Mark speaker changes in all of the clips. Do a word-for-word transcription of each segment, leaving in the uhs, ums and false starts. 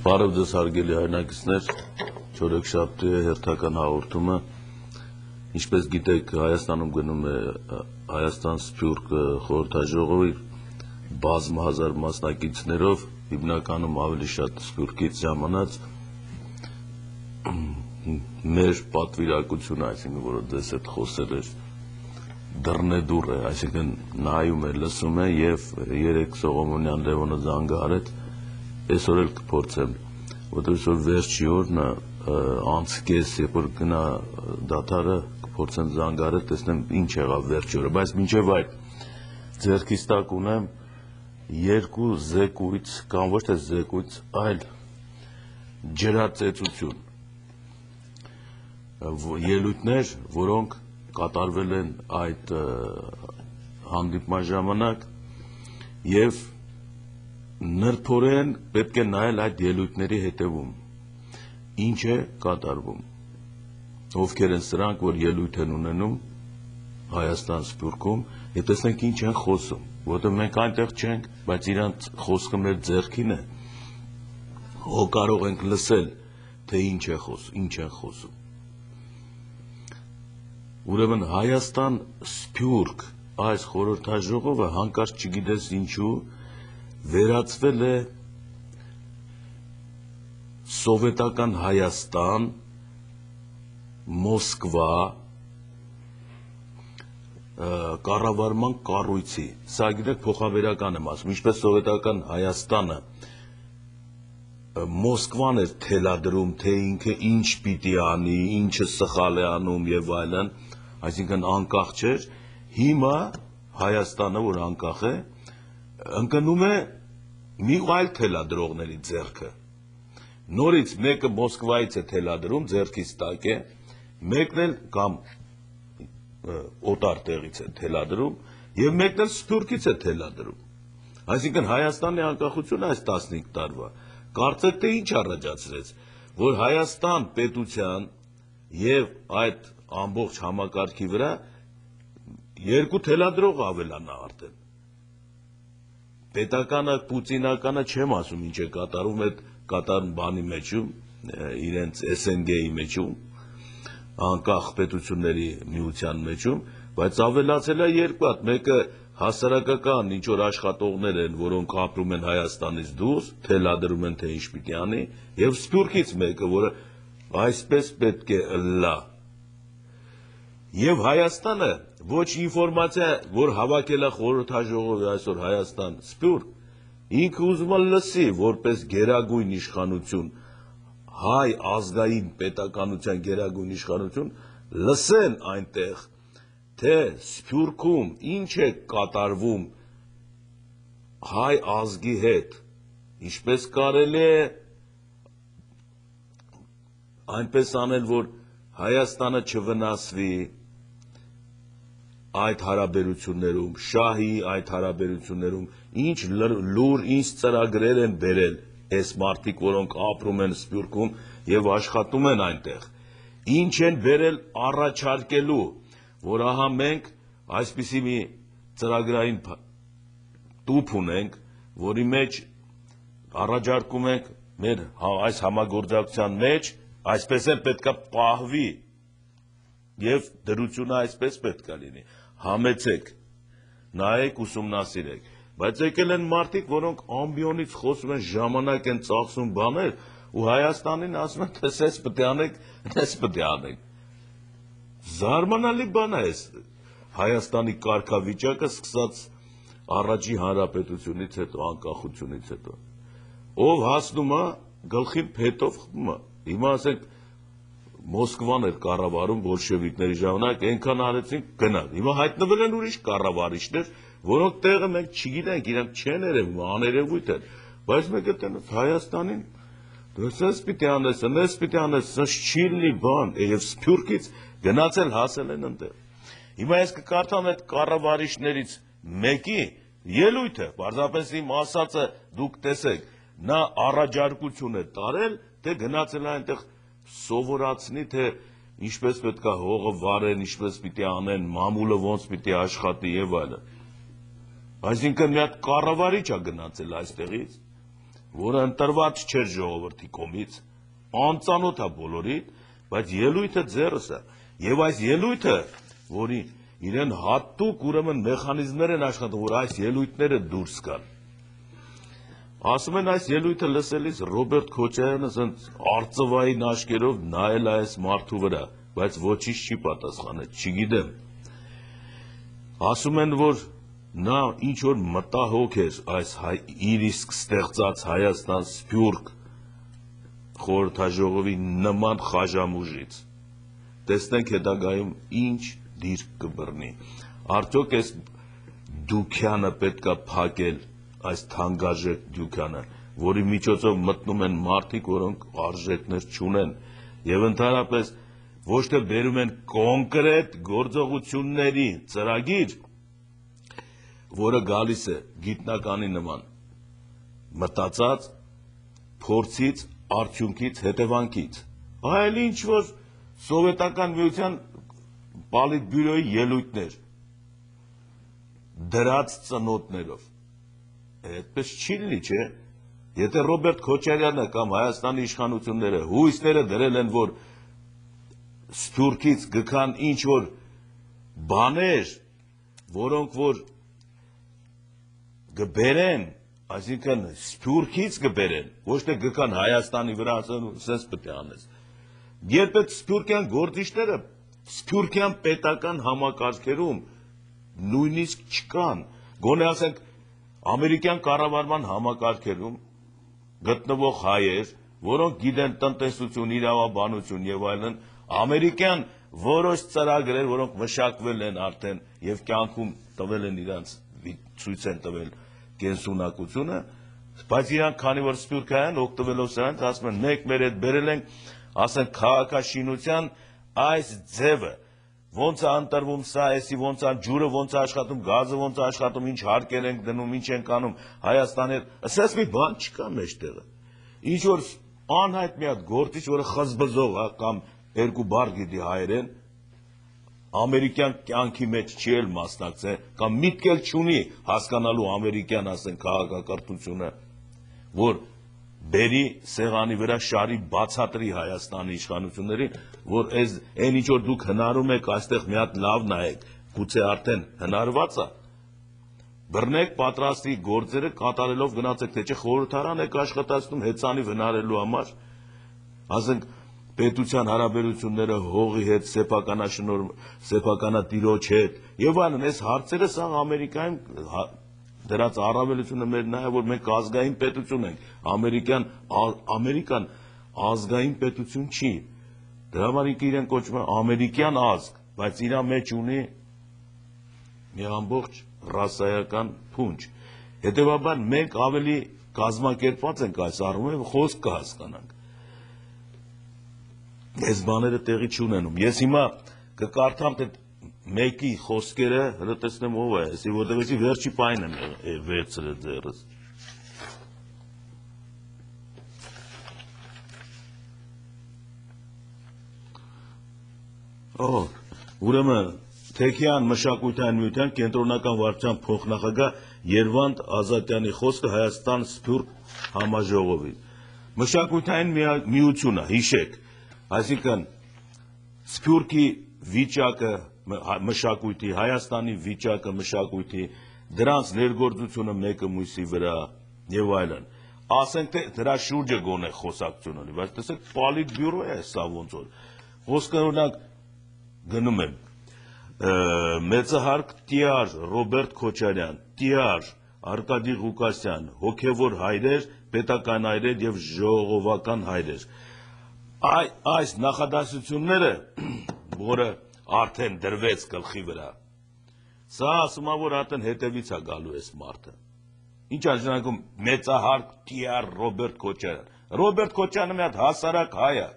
Speaker 1: Բարև ձեզ հարգելի հայրենակիցներ, չորեքշաբթի է հերթական հաղորդումը, ինչպես գիտեք Հայաստանում գնում է Հայաստան-Սփյուռք խորհրդաժողովի բազմահազար մասնակիցներով, հիմնականում ավելի շատ Սփյուռքից ժամանած մեր պատվիրակությունը, այսինքն որ ձեզ հետ խոսել էր դռնեդուռ է, այսինքն նայում է, լսում է եւ երեք Սողոմոնյան Լևոնը զանգահարեց, այսօր էլ կփորձեմ, որտեղ այսօր վերջի օրն է, անցկես, երբ որ գնա դադարը կփորձեմ զանգահարել, տեսնեմ ինչ եղավ վերջի օրը, բայց մինչև այդ ձեռքից տակ ունեմ երկու զեկույց, կամ ոչ թե զեկույց, այլ ջրածեծություն, ելույթներ, որոնք կատարվել են այդ հանդիպման ժամանակ եւ նրբորեն պետք է նայել այդ ելույթների հետևում, ինչ է կատարվում, ովքեր են սրանք, որ ելույթ են ունենում Հայաստան-Սփյուռքում եւ տեսնենք ինչ են խոսում, որտեղ մենք այնտեղ չենք, բայց իրանց խոսքը մեր ձեռքին է, հո կարող ենք լսել, թե ինչ է խոսում, ինչ են խոսում։ Ուրեմն Հայաստան-Սփյուռք այս խորհրդաժողովը հանկարծ չգիտես ինչու վերածվել է սովետական Հայաստան, Մոսկվա կառավարման կառույցի, սա գիտեք փոխաբերական եմ ասում, ինչպես սովետական Հայաստանը Մոսկվան էր թելադրում, թե ինքը ինչ պիտի անի, ինչը սխալ է անում եւ այլն, այսինքն անկախ չէր, հիմա Հայաստանը, որ անկախ է, ընկնում է մի այլ թելադրողների ձեռքը, նորից մեկը Մոսկվայից է թելադրում, ձեռքից տակ է, մեկն էլ կամ օտար տեղից է թելադրում եւ մեկն էլ Սփյուռքից է թելադրում, այսինքն Հայաստանի անկախությունը այս տասնհինգ տարվա, կարծեք թե ինչ առաջացրեց, որ Հայաստան պետության եւ այդ ամբողջ համակարգի վրա երկու թելադրող ավելանա արդեն։ Պետականը, պուտինականը չեմ ասում ինչ է կատարում այդ կատարում բանի մեջում, իրենց S N G-ի մեջում, անկախ պետությունների միության մեջում, բայց ավելացել է երկու հատ, մեկը հասարակական ինչ որ աշխատողներ են, որոնք ապրում են Հայաստանից դուրս, թելադրում են թե ինչ պիտի անի, եւ Սփյուռքից մեկը, որը այսպես պետք է լա։ Եվ Հայաստանը ոչ ինֆորմացիա, որ հավաքել է խորհրդաժողովը այսօր Հայաստան Սփյուռք, ինքը ուզում է լսի, որպես գերագույն իշխանություն, հայ ազգային պետականության գերագույն իշխանություն, լսեն այնտեղ, թե Սփյուռքում ինչ է կատարվում հայ ազգի հետ, ինչպես կարելի է այնպես անել, որ Հայաստանը չվնասվի այդ հարաբերություններում, շահի այդ հարաբերություններում, ինչ լուր, ինչ ծրագրեր են բերել այս մարդիկ, որոնք ապրում են Սփյուռքում եւ աշխատում են այնտեղ, ինչ են բերել առաջարկելու, որ ահա մենք այսպիսի մի ծրագրային տուփ ունենք, որի մեջ առաջարկում ենք մեր այս համագործակցության մեջ, այսպես էլ պետքա պահվի եւ դրությունը այսպես պետքա լինի, համեցեք, նայեք, ուսումնասիրեք, բայց եկել են մարդիկ, որոնք ամբիոնից խոսում են, ժամանակ են ծախսում բաներ, ու Հայաստանին ասում են, թե սես պետք է անեք, ես պետք է անեք, զարմանալի բան է այս Հայաստանի կարգավիճակը սկսած առաջի հանրապետությունից հետո, անկախությունից հետո, ով հասնում է գլխին փետով խմում է, հիմա ասենք Մոսկվան էր կառավարում բոլշևիկների ժամանակ, այնքան արեցին գնալ, հիմա հայտնվել են ուրիշ կառավարիչներ, որոնք տեղը մենք չգիտենք, իրանք չեն երևում, աներևույթ են, բայց մեկ է տենս Հայաստանին, դրսես պիտի անես, նես պիտի անես, սնց չի լինի բան, եւ Սփյուռքից գնացել հասել են ընտեղ։ Հիմա ես կկարդամ այդ կառավարիչներից մեկի ելույթը, պարզապես իմ ասածը դուք տեսեք, նա առաջարկություն է տարել, թե գնացել է այնտեղ սովորացնի, թե ինչպես պետք է հողը վարեն, ինչպես պիտի անեն, մամուլը ոնց պիտի աշխատի եւ այլն։ Այսինքն մի հատ կառավարիչ է գնացել այստեղից, որը ընտրված չէր ժողովրդի կողմից, անծանոթ է բոլորին, բայց ելույթը ձեռս է, եւ այս ելույթը, որի իրեն հատուկ ուրեմն մեխանիզմներ են աշխատում, որ այս ելույթները դուրս գան։ Ասում են այս ելույթը լսելիս Ռոբերտ Քոչարյանը ասենց արծվային աչքերով նայել է այս մարդու վրա, բայց ոչինչ չի պատասխանել, չգիտեմ։ Ասում են, որ նա ինչ որ մտահոգ էր այս իր իսկ ստեղծած Հայաստան Սփյուռք խորհրդաժողովի նման խաժամուժից։ Տեսնենք հետագայում ինչ դիրք կբռնի։ Արդյոք այս դուքյանը պետքա փակել, այս թանկարժեք դուքյանը, որի միջոցով մտնում են մարդիկ, որոնք արժեքներ չունեն, եւ ընդհանրապես ոչ թե բերում են կոնկրետ գործողությունների ծրագիր, որը գալիս է գիտնականի նման, մտածած, փորձից, արդյունքից, հետևանքից, այլ ինչ որ սովետական միության պոլիտբյուրոյի ելույթներ, դրած ծնոտներով, այդպես չի լինի, չէ՞։ Եթե Ռոբերտ Քոչարյանը կամ Հայաստանի իշխանությունները հույսները դրել են, որ Սփյուռքից գքան ինչ որ բաներ, որոնք որ գբերեն, այսինքն Սփյուռքից գբերեն, ոչ թե գքան Հայաստանի վրա, ասեն սենց պետք է անես։ Երբ այդ սփյուռքյան գործիչները սփյուռքյան պետական համակարգերում նույնիսկ չկան, գոնե ասենք ամերիկյան կառավարման համակարգերում գտնվող հայեր, որոնք գիտեն տնտեսություն, իրավաբանություն եւ այլն, ամերիկյան որոշ ծրագրեր, որոնք մշակվել են արդեն եւ կյանքում տվել են իրանց ցույց են տվել կենսունակությունը, բայց իրանք քանի որ սփյուռքային օգտվելով սրանից ասում են մեկ մեր հետ բերել ենք, ասենք քաղաքաշինության այս ձևը, ոնց է ընտրվում սա, էսի ոնց է ջուրը ոնց է աշխատում, գազը ոնց է աշխատում, ինչ հարկեր ենք դնում, ինչ ենք անում, Հայաստանի հետ, ասես մի բան չկա մեջտեղը։ Ինչ որ անհայտ մի հատ գործիչ, որը խզբզող է կամ երկու բառ գիտի հայերեն, ամերիկյան կյանքի մեջ չի էլ մասնակցել, կամ միտք էլ չունի հասկանալու ամերիկյան, ասենք, քաղաքակրթությունը, որ բերի սեղանի վրա շարի բացատրի Հայաստանի իշխանություններին, որ այն ինչ որ դուք հնարում եք, այստեղ մի հատ լավ նայեք, գուցե արդեն հնարված է, բռնեք պատրաստի գործերը կատարելով գնացեք, թե չէ խորհրդարան եք աշխատացնում հեծանիվ հնարելու համար, ասենք պետության հարաբերությունները հողի հետ, սեփականաշնոր, սեփականատիրոջ հետ, եւ այլն, այս հարցերը սա Ամերիկայում դրած առավելությունը մեր նա է, որ մենք ազգային պետություն ենք, ամերիկյան, ամերիկան ազգային պետություն չի, դրա համար իրեն կոչվում է ամերիկյան ազգ, բայց իր մեջ ունի մի ամբողջ ռասայական փունջ, հետևաբար մենք ավելի կազմակերպված ենք այս առումով, խոսք կհասկանանք, այս բաները տեղի չունենում, ես հիմա կկարդամ թե մեկի խոսքերը հրտեսնեմ ով է, այսի որտեղի վերջի պայն եմ վերցրել ձեռս։ Օ, ուրեմն Թեքյան մշակութային միության կենտրոնական վարչության փոխնախագահ Երվանդ Ազատյանի խոսքը Հայաստան Սփյուռք համաժողովին։ Մշակութային միությունը, հիշեք, այսինքն Սփյուռքի վիճակը մշակույթի, Հայաստանի վիճակը մշակույթի, դրանց ներգործությունը մեկը մյուսի վրա եւ այլն։ Ասենք թե դրա շուրջը գոնե խոսակցություն ունի, բայց տեսեք պոլիտբյուրո է սա ոնց որ։ Խոսքը օրինակ գնում եմ մեծահարկ տիար Ռոբերտ Քոչարյան, տիար Արկադի Ղուկասյան, հոգևոր հայրեր, պետական հայրեր եւ ժողովական հայրեր։ Այս նախադասությունները, որը արդեն դրվեց գլխի վրա, սա ասում է, որ արդեն հետևից է գալու այս մարդը։ Ինչ է նշանակում մեծահարկ տիար Ռոբերտ Քոչարյան։ Ռոբերտ Քոչարյանը մի հատ հասարակ հայ է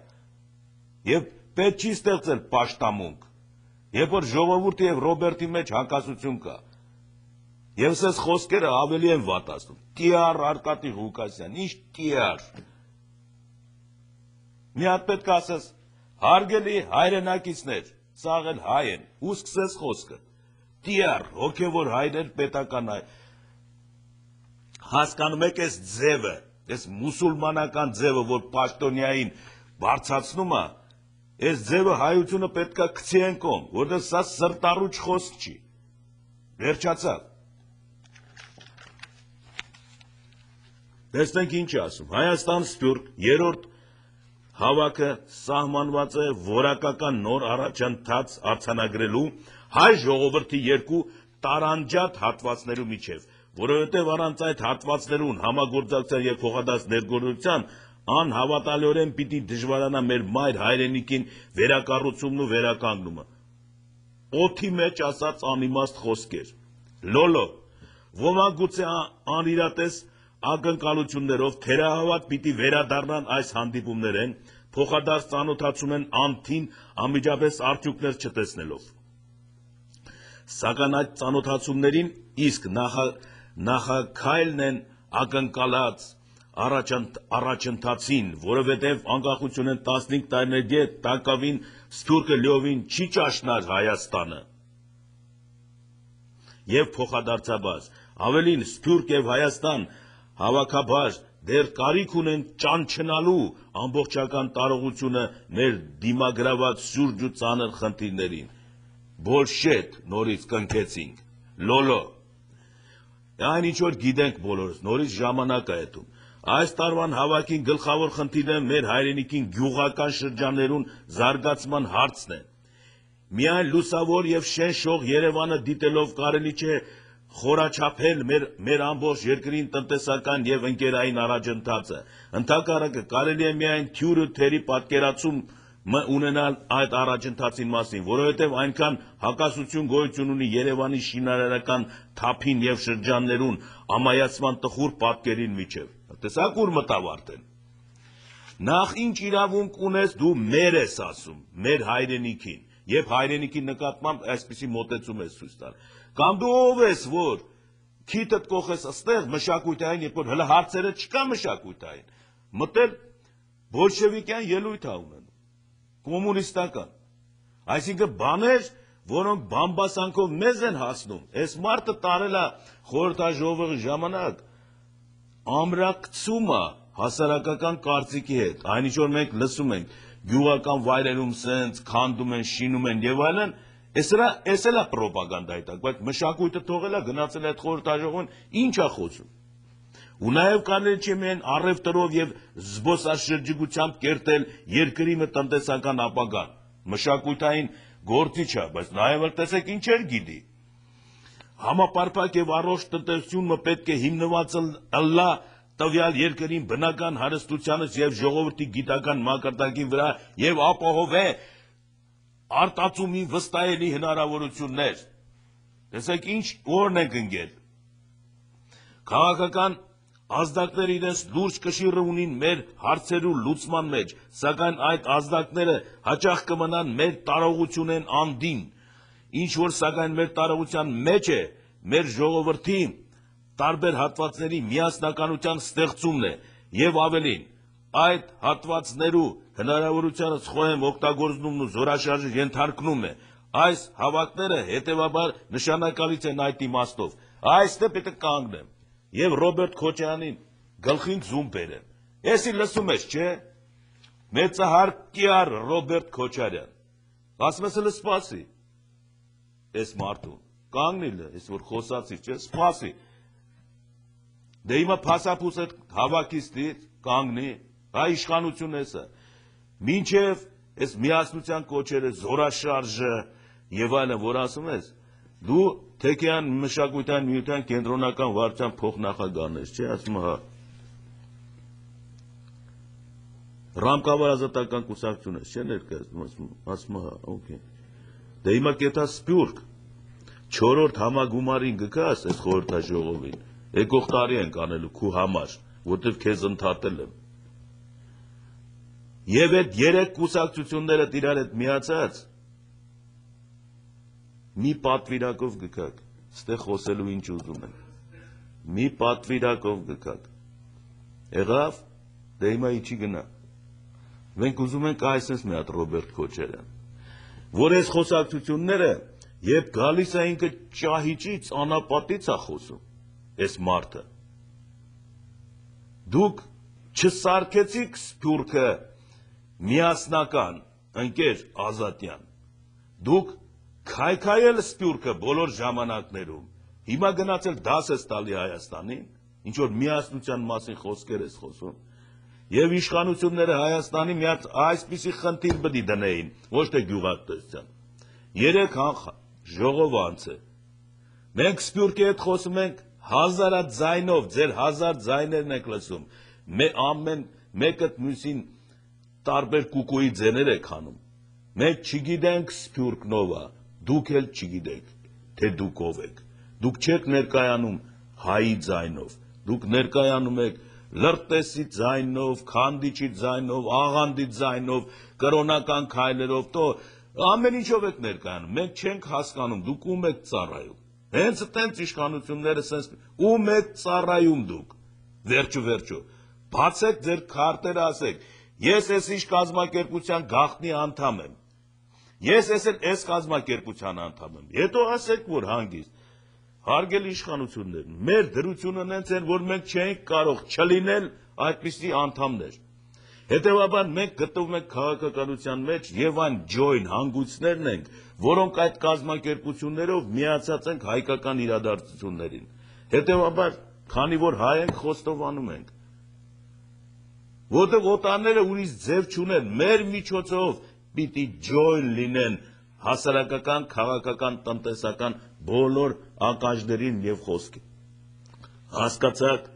Speaker 1: եւ պետք չի ստեղծել պաշտամունք։ Երբ որ ժողովուրդի եւ Ռոբերտի մեջ հակասություն կա, եւ սես խոսքերը ավելի են վատացնում։ Տիար Արկադի Ղուկասյան, ինչ տիար։ Մի հատ պետք է ասես, հարգելի հայրենակիցներ, սաղ էլ հայ են, ու սկսես խոսքը։ Տիար, հոգևոր հայրեր, պետական հայ։ Հասկանում եք այս ձևը, այս մուսուլմանական ձևը, որ պաշտոնյային բարձրացնում է, այս ձևը հայությունը պետք է գցի են կողմ, որտեղ սա սրտառուչ խոսք չի։ Վերջացավ։ Տեսնենք ինչ է ասում։ Հայաստան Սփյուռք երրորդ հավաքը սահմանված է որակական նոր առաջընթաց արձանագրելու հայ ժողովրդի երկու տարանջատ հատվածներու միջև, որովհետև առանց այդ հատվածներուն համագործակցության եւ փոխադարձ ներգործության անհավատալիորեն պիտի դժվարանա մեր մայր հայրենիքին վերակառուցումն ու վերականգնումը։ Օդի մեջ ասած անիմաստ խոսքեր։ Լոլո, ոմանք գուցե անիրատես ակնկալություններով թերահավատ պիտի վերադառնան այս հանդիպումներեն, փոխադարձ ծանոթացում են անթին անմիջապես արդյունքներ չտեսնելով։ Սակայն այդ ծանոթացումներին իսկ նախաքայլն են ակնկալած առաջընթացին, որովհետև անկախություն են տասնհինգ տարիներ ետ տակավին Սփյուռքը լիովին չի ճաշնար Հայաստանը եւ փոխադարձաբար, ավելին Սփյուռք եւ Հայաստան հավաքաբար դեռ կարիք ունեն ճանչնալու ամբողջական տարողությունը մեր դիմագրաված սուրճ ու ծանր խնդիրներին։ Բոլշետ նորից կնքեցինք, լոլո։ Այն ինչ որ գիտենք բոլորս, նորից ժամանակ է հետում։ Այս տարվան հավաքին գլխավոր խնդիրը մեր հայրենիքին գյուղական շրջաններուն զարգացման հարցն է։ Միայն լուսավոր եւ շենշող Երևանը դիտելով կարելի չէ խորաչափել մեր, մեր ամբողջ երկրին տնտեսական եւ ընկերային առաջընթացը։ Ընդհակառակը կարելի է միայն թյուրը թերի պատկերացում ունենալ այդ առաջընթացին մասին, որովհետև այնքան հակասություն գոյություն ունի Երևանի շինարարական թափին եւ շրջաններուն ամայացման տխուր պատկերին միջև։ Տեսակ ուր մտավ արդեն։ Նախ ինչ իրավունք ունես դու մեր ես ասում, մեր հայրենիքին, եւ հայրենիքի նկատմամբ այսպիսի մոտեցում ես ցույց տալ։ Կամ դու ով ես, որ քիթդ կողես աստեղ մշակույթային, երբ որ հլը հարցերը չկա մշակույթային, մտել բոլշևիկյան ելույթ ա ունենում, կոմունիստական, այսինքն բաներ, որոնք բամբասանքով մեզ են հասնում, այս մարդը տարել է խորհրդաժողովի ժամանակ, ամրակցում է հասարակական կարծիքի հետ, այն ինչ որ մենք լսում ենք, գյուղական վայրերում սենց քանդում են, շինում են եւ այլն, Ես էլ է պրոպագանդայի տակ, բայց մշակույթը թողել է, գնացել է այդ խորհրդաժողովին, ինչ է խոսում։ Ու նաև կարելի չէ միայն առևտրով եւ զբոսաշրջիկությամբ կերտել երկրի մը տնտեսական ապագան։ Մշակույթային գործիչ է, բայց նաև էլ տեսեք ինչեր գիտի։ Համապարփակ եւ առողջ տնտեսությունը պետք է հիմնված ըլլա տվյալ երկրին բնական հարստությանից եւ ժողովրդի գիտական մակարդակի վրա եւ ապահովե արտացումի վստահելի հնարավորություններ։ Տեսեք ինչ օրն ենք ընկել։ Քաղաքական ազդակները իրենց լուրջ կշիռը ունին մեր հարցերու լուծման մեջ, սակայն այդ ազդակները հաճախ կմնան մեր տարողությունեն անդին, ինչ որ սակայն մեր տարողության մեջ է, մեր ժողովրդի տարբեր հատվածների միասնականության ստեղծումն է եւ ավելին, այդ հատվածներու հնարավորությանս խոհեմ օգտագործումն ու զորաշարժը ենթարկնում է, այս հավաքները հետևաբար նշանակալից են այդ իմաստով, այստեղ պետք է կանգնեմ եւ Ռոբերտ Քոչարյանին գլխին զում բերեմ, եսի լսում ես, չէ, մեծահարկյար Ռոբերտ Քոչարյան, ասում ես հլը սպասի, ես մարդուն, կանգնիլ, ես որ խոսացի, չէ, սպասի, դե հիմա փասափուս այդ հավաքիստից կանգնի, հա իշխանություն էսը, մինչև այս միասնության կոչերը, զորաշարժը եւ այլն, որ ասում ես, դու Թեքեյան մշակութային միության կենտրոնական վարչության փոխնախագահն ես, չէ, ասում հա։ Ռամկավար ազատական կուսակցություն ես, չէ, ներկայացնում, ասում հա, օքեյ։ Դե հիմա կեթա Սփյուռք, չորրորդ համագումարին գկաս այս խորհրդաժողովին, եկող տարի ենք անելու քու համար, որտեվ քեզ ընդհատել եմ։ Եվ այդ երեք կուսակցությունները իրար հետ միացած, մի պատվիրակով գկաք, ստեղ խոսելու ինչ ուզում են, մի պատվիրակով գկաք, եղավ, դե հիմա իչի գնա, մենք ուզում ենք այսպես մի հատ Ռոբերտ Քոչարյան, որ այս խոսակցությունները, երբ գալիս է ինքը ճահիճից, անապատից է խոսում, այս մարդը, դուք Չսարքեցիք Սփյուռքը միասնական ընկեր Ազատյան, դուք քայքայել Սփյուռքը բոլոր ժամանակներում, հիմա գնացել դաս ես տալի Հայաստանին, ինչ որ միասնության մասին խոսքեր ես խոսում, եւ իշխանությունները Հայաստանի միած այսպիսի խնդիր պետք է դնեին, ոչ թե գյուղատնտեսության։ Երեք ժողով անց է։ Մենք Սփյուռքի հետ խոսում ենք հազարատ ձայնով, ձեր հազար ձայներն եք լսում, ամեն մեկը մյուսին տարբեր կուկուի ձեներ եք անում։ Մենք չգիտենք Սփյուռքն ով է, դուք էլ չգիտեք, թե դուք ով եք։ Դուք չեք ներկայանում հայի ձայնով, դուք ներկայանում եք լրտեսի ձայնով, քանդիչի ձայնով, աղանդի ձայնով, կրոնական քայլերով, то ամեն ինչով եք ներկայանում, մենք չենք հասկանում, դուք ում եք ծառայում։ Հենց այդպես իշխանությունները sense ում եք ծառայում դուք։ Վերջո վերջո, բացեք ձեր քարտերը, ասեք, ես այս ինչ կազմակերպության գաղտնի անդամ եմ։ Ես ես էլ այս կազմակերպության անդամ եմ։ Հետո ասեք, որ հանգիստ հարգելի իշխանություններ, մեր դրությունն հենց են, որ մենք չենք կարող չլինել այդպիսի անդամներ։ Հետևաբար մենք գտնվում ենք քաղաքականության մեջ եւ այն ջոյն հանգույցներն ենք, որոնք այդ կազմակերպություններով միացած ենք հայկական իրադարձություններին։ Հետևաբար, քանի որ հայ ենք, խոստովանում ենք, որտեղ օտարները ուրիշ ձև չունեն, մեր միջոցով պիտի ջոյն լինեն հասարակական, քաղաքական, տնտեսական բոլոր ականջներին եւ խոսքի։ Հասկացաք,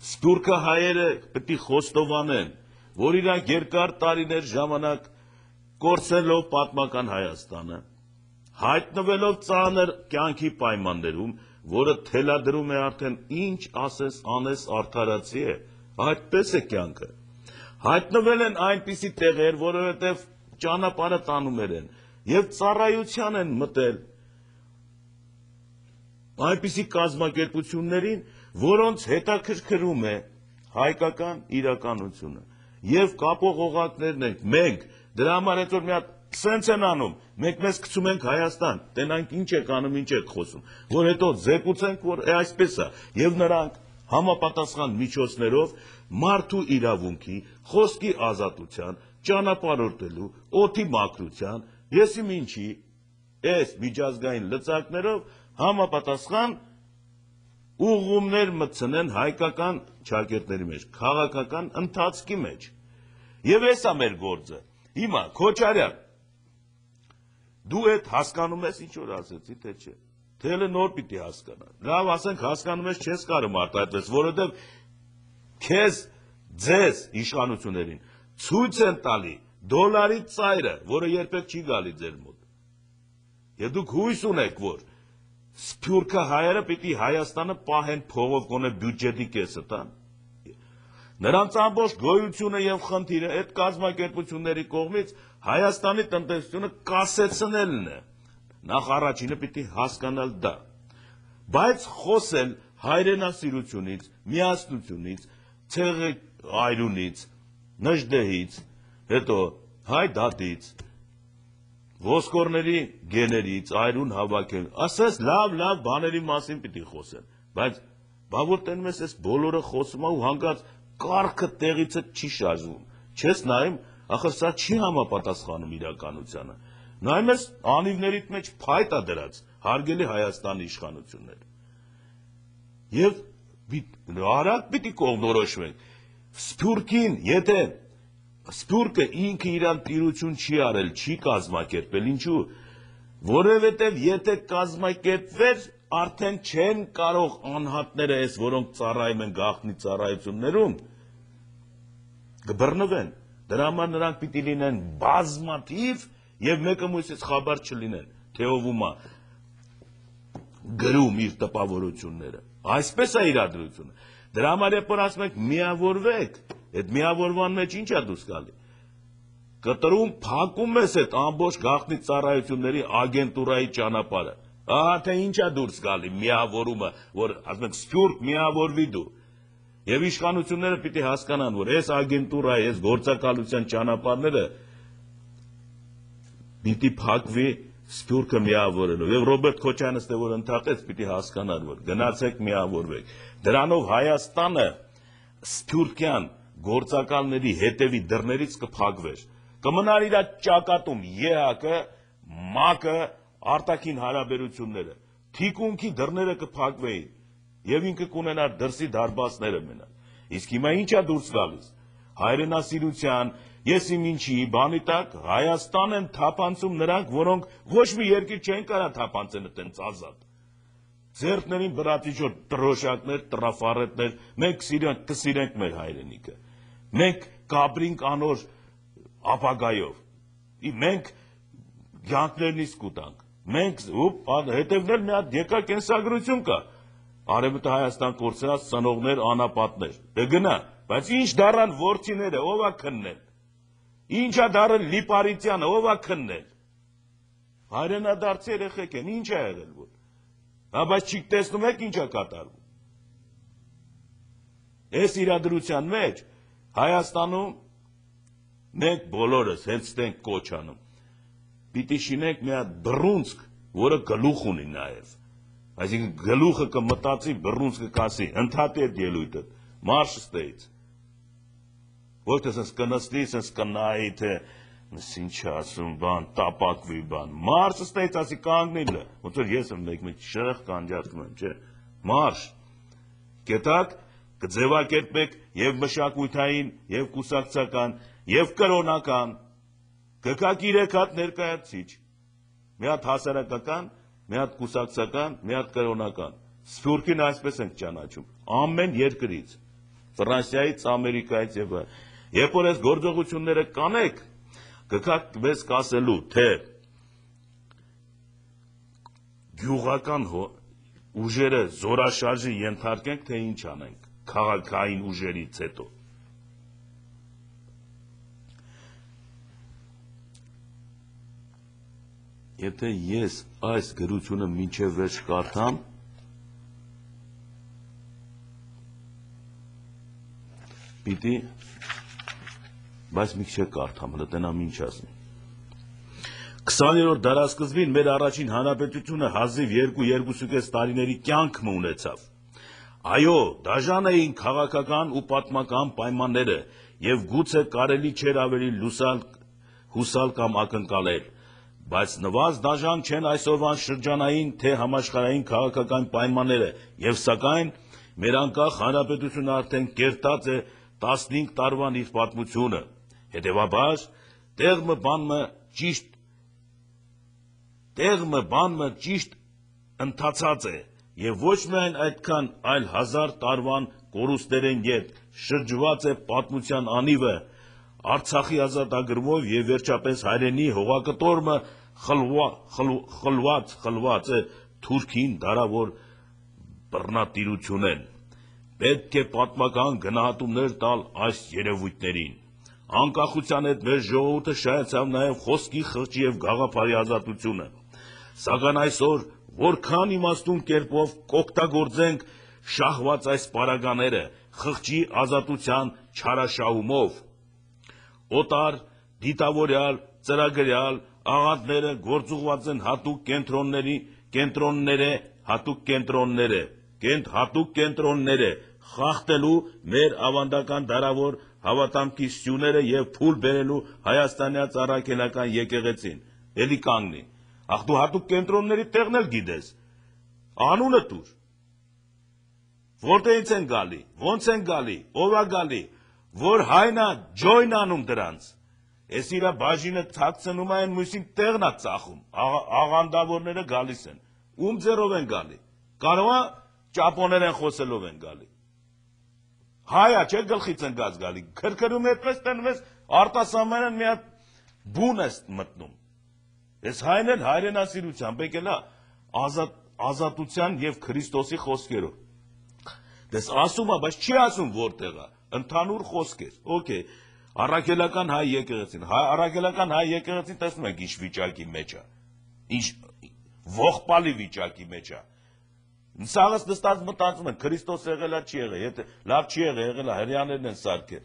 Speaker 1: Սփյուռքը հայերը պետք է խոստովանեն, որ իրանք երկար տարիներ ժամանակ կորցնելով պատմական Հայաստանը, հայտնվելով ծանր կյանքի պայմաններում, որը թելադրում է արդեն ինչ ասես անես արդարացի է, այդպես է կյանքը։ Հայտնվել են այնպիսի տեղեր, որովհետև ճանապարհը տանում են եւ ծառայության են մտել այնպիսի կազմակերպություններին, որոնց հետաքրքրում է հայկական իրականությունը եւ կապող օղակներն ենք մենք, դրա համար այդ որ մի հատ սենց են անում, մենք մեզ գցում ենք Հայաստան, տենանք ինչ եք անում, ինչ եք խոսում, որ հետո զեկուցենք, որ այսպես է, եւ նրանք համապատասխան միջոցներով մարդու իրավունքի, խոսքի ազատության, ճանապարհորդելու, օդի մաքրության, եսիմ ինչի, այս միջազգային լծակներով համապատասխան ուղղումներ մտցնեն հայկական ճակերտների մեջ, քաղաքական ընթացքի մեջ։ Եվ էս է մեր գործը։ Հիմա Քոչարյան, դու այդ հասկանում ես ինչ որ ասեցի, թե չէ։ Թե էլ նոր պիտի հասկանա։ Լավ, ասենք հասկանում ես, չես կարող արտահայտես, որովհետև քեզ ձեզ իշխանություններին ցույց են տալի դոլարի ծայրը, որը երբեք չի գալի ձեր մոտ։ Եվ դուք հույս ունեք, որ Սփյուռքը հայերը պիտի Հայաստանը պահեն փողով գոնե բյուջետի կեսը տան։ Նրանց ամբողջ գոյությունը եւ խնդիրը այդ կազմակերպությունների կողմից Հայաստանի տնտեսությունը կասեցնելն է։ Նախ առաջինը պիտի հասկանալ դա։ Բայց խոսել հայրենասիրությունից, միասնությունից, ցեղի այրունից, նժդեհից, հետո հայ դատից, ոսկորների գեներից, այրուն հավաքել, ասես լավ, լավ բաների մասին պիտի խոսեն, բայց բա որ տենում ես այս բոլորը խոսում ու հանգած կառքը տեղիցը չի շարժվում, չես նայում, ախր սա չի համապատասխանում իրականությանը, նայում ես անիվներիդ մեջ փայտ է դրած, հարգելի Հայաստանի իշխանություններ, եւ արագ պիտի կողմնորոշվենք, Սփյուռքին, եթե Սփյուռքը ինքը իրան տիրություն չի արել, չի կազմակերպել, ինչու, որովհետև եթե կազմակերպվեր, արդեն չեն կարող անհատները այս, որոնք ծառայում են գաղտնի ծառայություններում, կբռնվեն, դրա համար նրանք պիտի լինեն բազմաթիվ եւ մեկը մյուսից խաբար չլինեն, թե ով ումա գրում իր տպավորությունները, այսպես է իրադրությունը, դրա համար երբ որ ասում ենք միավորվեք, այդ միավորման մեջ ինչ է դուրս գալի, կտրում փակում ես այդ ամբողջ գաղտնի ծառայությունների ագենտուրայի ճանապարհը, ահա թե ինչ է դուրս գալի միավորումը, որ ասում ենք Սփյուռք միավորվի դու, եւ իշխանությունները պիտի հասկանան, որ այս ագենտուրայի, այս գործակալության ճանապարհները պիտի փակվի Սփյուռքը միավորելով, եւ Ռոբերտ Քոչարյանը ստե որ ընդհատեց, պիտի հասկանան, որ գնացեք միավորվեք, դրանով Հայաստանը Սփյուռքյան գործակալների հետևի դռներից կփակվեր։ Կմնար իր ճակատում ԵՀԿ, ՄԱԿ-ը, արտաքին հարաբերությունները, թիկունքի դռները կփակվեին եւ ինքը կունենար դրսի դարբասները մենալ։ Իսկ հիմա ի՞նչ է դուրս գալիս։ Հայրենասիրության, ես իմ ինչի բանի տակ Հայաստան են թափանցում նրանք, որոնք ոչ մի երկիր չեն կարա թափանցեն այդպես ազատ։ Ձերքներին բրատիչոր տրոշակներ, տրաֆարետներ, մենք կսիրենք մեր հայրենիքը։ Մենք կապրինք անոր ապագայով։ Մենք յանքներն իսկ կուտանք։ Մենք հետևնել մի հատ եկա կենսագրություն կա։ Արևմուտք Հայաստան կորցրած ծնողներ, անապատներ։ Դե գնա, բայց ինչ դառան ворթիները, ով է քննել։ Ինչա դառել Լիպարիտյանը, ով է քննել։ Հայրենադարձ երեխեք են, ինչ է եղել որ։ Հա բայց չիք տեսնում եք ինչ է կատարվում։ Այս իրադրության մեջ Հայաստանում մենք բոլորս հենց ստենք կոչ անում։ Պիտի շինենք մի հատ բռունցք, որը գլուխ ունի նաև։ Այսինքն գլուխը կմտածի, բռունցքը կասի, ընդհատի այդ ելույթը, մարշ ստեից։ Ոչ թե սենց կնստի, սենց կնայի, թե ինչ ասում, բան, տապակվի, բան, մարշ ստեից, ասի կանգնիլը, ոնց որ ես եմ մեկ-մեկ շրեղ կանջատվում եմ, չէ, մարշ, կետակ, կձևակերպեք և մշակույթային, և կուսակցական, և կրոնական, կկակ իրեք հատ ներկայացիչ, մի հատ հասարակական, մի հատ կուսակցական, մի հատ կրոնական, Սփյուռքին այսպես ենք ճանաչում, ամեն երկրից, Ֆրանսիայից, Ամերիկայից և այլ, երբ որ այս գործողությունները կանեք, կգաք մեզ կասելու, թե գյուղական ուժերը զորաշարժի ենթարկենք, թե ինչ անենք, քաղաքային ուժերից հետո։ Եթե ես այս գրությունը մինչև վերջ կարդամ, պիտի, բայց մի քիչ կարդամ, հələ տենամ ինչ ասեմ։ քսաներորդ դարասկզբին մեր առաջին հանրապետությունը հազիվ երկու երկուսուկես տարիների կյանք ունեցավ։ Այո, դաժան էին քաղաքական ու պատմական պայմանները, եւ գուցե կարելի չէր ավելի լուսալ, հուսալ կամ ակնկալել, բայց նվազ դաժան չեն այսօրվան շրջանային թե համաշխարհային քաղաքական պայմանները, եւ սակայն մեր անկախ հանրապետությունը արդեն կերտած է տասնհինգ տարվան իր պատմությունը, հետեւաբար տեղը բանը ճիշտ տեղը բանը ճիշտ ընթացած է եւ ոչ միայն այդքան, այլ հազար տարվան կորուստերեն ետ շրջված է պատմության անիվը Արցախի ազատագրումով եւ վերջապես հայրենի հողակտորմը խլված խլված է թուրքին դարավոր բռնատիրությունեն։ Պետք է պատմական գնահատումներ տալ այս երևույթներին։ Անկախության հետ մեր ժողովուրդը շահեցավ նաեւ խոսքի, խղճի եւ գաղափարի ազատությունը։ Սակայն այսօր որքան իմաստուն կերպով կօգտագործենք շահված այս պարագաները խղճի ազատության չարաշահումով։ Օտար, դիտավորյալ, ծրագրյալ աղանդները գործուղված են հատուկ կենտրոնների, կենտրոնները, հատուկ կենտրոնները, կենտ հատուկ կենտրոնները խախտելու մեր ավանդական դարավոր հավատամքի սյուները եւ փուլ բերելու հայաստանյաց առաքելական եկեղեցին։ Էլի կանգնի։ Ախ դու հատուկ կենտրոնների տեղն էլ գիտես։ Անունը տուր։ Որտեղից են գալի, ոնց են գալի, ով է գալի, որ հայնա ջոյն անում դրանց։ Ես իրա բաժինը թաքցնում այն մյուսին տեղն է ծախում, աղանդավորները գալիս են, ում ձեռով են գալի, կարող է ճապոներեն խոսելով են գալի։ Հայա չէ գլխից են գած գալի, քրքրում այդպես տնում ես արտասահմանյան մի հատ բուն ես մտնում։ Ես հայն էլ հայրենասիրությամբ եկել է ազատության եւ Քրիստոսի խոսքերով։ Դες ասում է, բայց չի ասում որտեղ է, ընդհանուր խոսքեր, օքեյ, առաքելական հայ եկեղեցին, առաքելական հայ եկեղեցին տեսնում եք ինչ վիճակի մեջ է, ինչ ողբալի վիճակի մեջ է։ Սաղս նստած մտածում են, Քրիստոս եղել է, չի եղել, եթե լավ չի եղել, եղել է, հրեաներն են սարքել,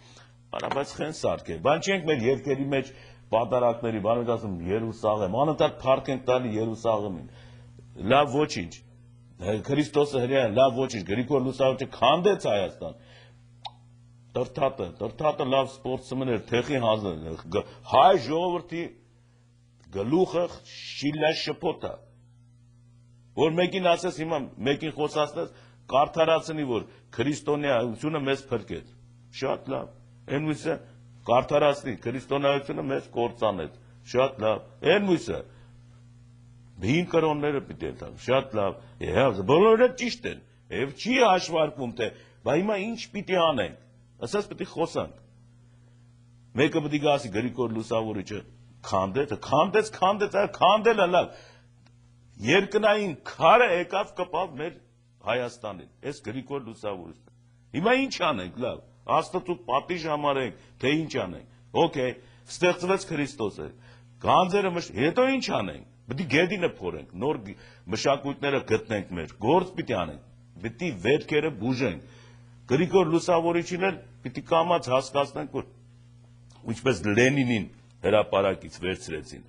Speaker 1: բայց խեն սարքել, բան չենք մեր երկերի մեջ պատարակների, բան ենք ասում Երուսաղեմ, անընդհատ փառք ենք տալի Երուսաղեմին, լավ ոչինչ, Քրիստոսը հրեա, լավ ոչինչ, Գրիգոր Լուսավորչը քանդեց Հայաստան, Տրթատը, տրթատը լավ սպորտսմեն էր, թեխի հանձն հայ ժողովրդի գլուխը շիլա շփոթա, որ մեկին ասես հիմա մեկին խոսացնես, կարդարացնի, որ քրիստոնեությունը մեզ փրկեց, շատ լավ, այն մույսը կարդարացնի, քրիստոնեությունը մեզ կործանեց, շատ լավ, այն մույսը հին կրոնները պիտի են, շատ լավ, բոլորը ճիշտ են, և չի հաշվարկվում, թե բա հիմա ինչ պիտի անենք, ասես պիտի խոսանք, մեկը պիտի գասի Գրիգոր Լուսավորիչը քանդեց, քանդեց, քանդեց, քանդելը լավ, երկնային քարը եկավ կպավ մեր Հայաստանին, այս Գրիգոր Լուսավորիչը, հիմա ինչ անենք, լավ, Աստծու պատիժ համարենք, թե ինչ անենք, օքեյ, ստեղծվեց Քրիստոսը, գանձերը մշ, հետո ինչ անենք, պիտի գեդինը փորենք, նոր մշակույթները գտնենք մեր, գործ պիտի անենք, պիտի վերքերը բուժենք, Գրիգոր Լուսավորիչին էլ պիտի կամաց հասկացնենք, որ ինչպես Լենինին հրապարակից վերցրեցին,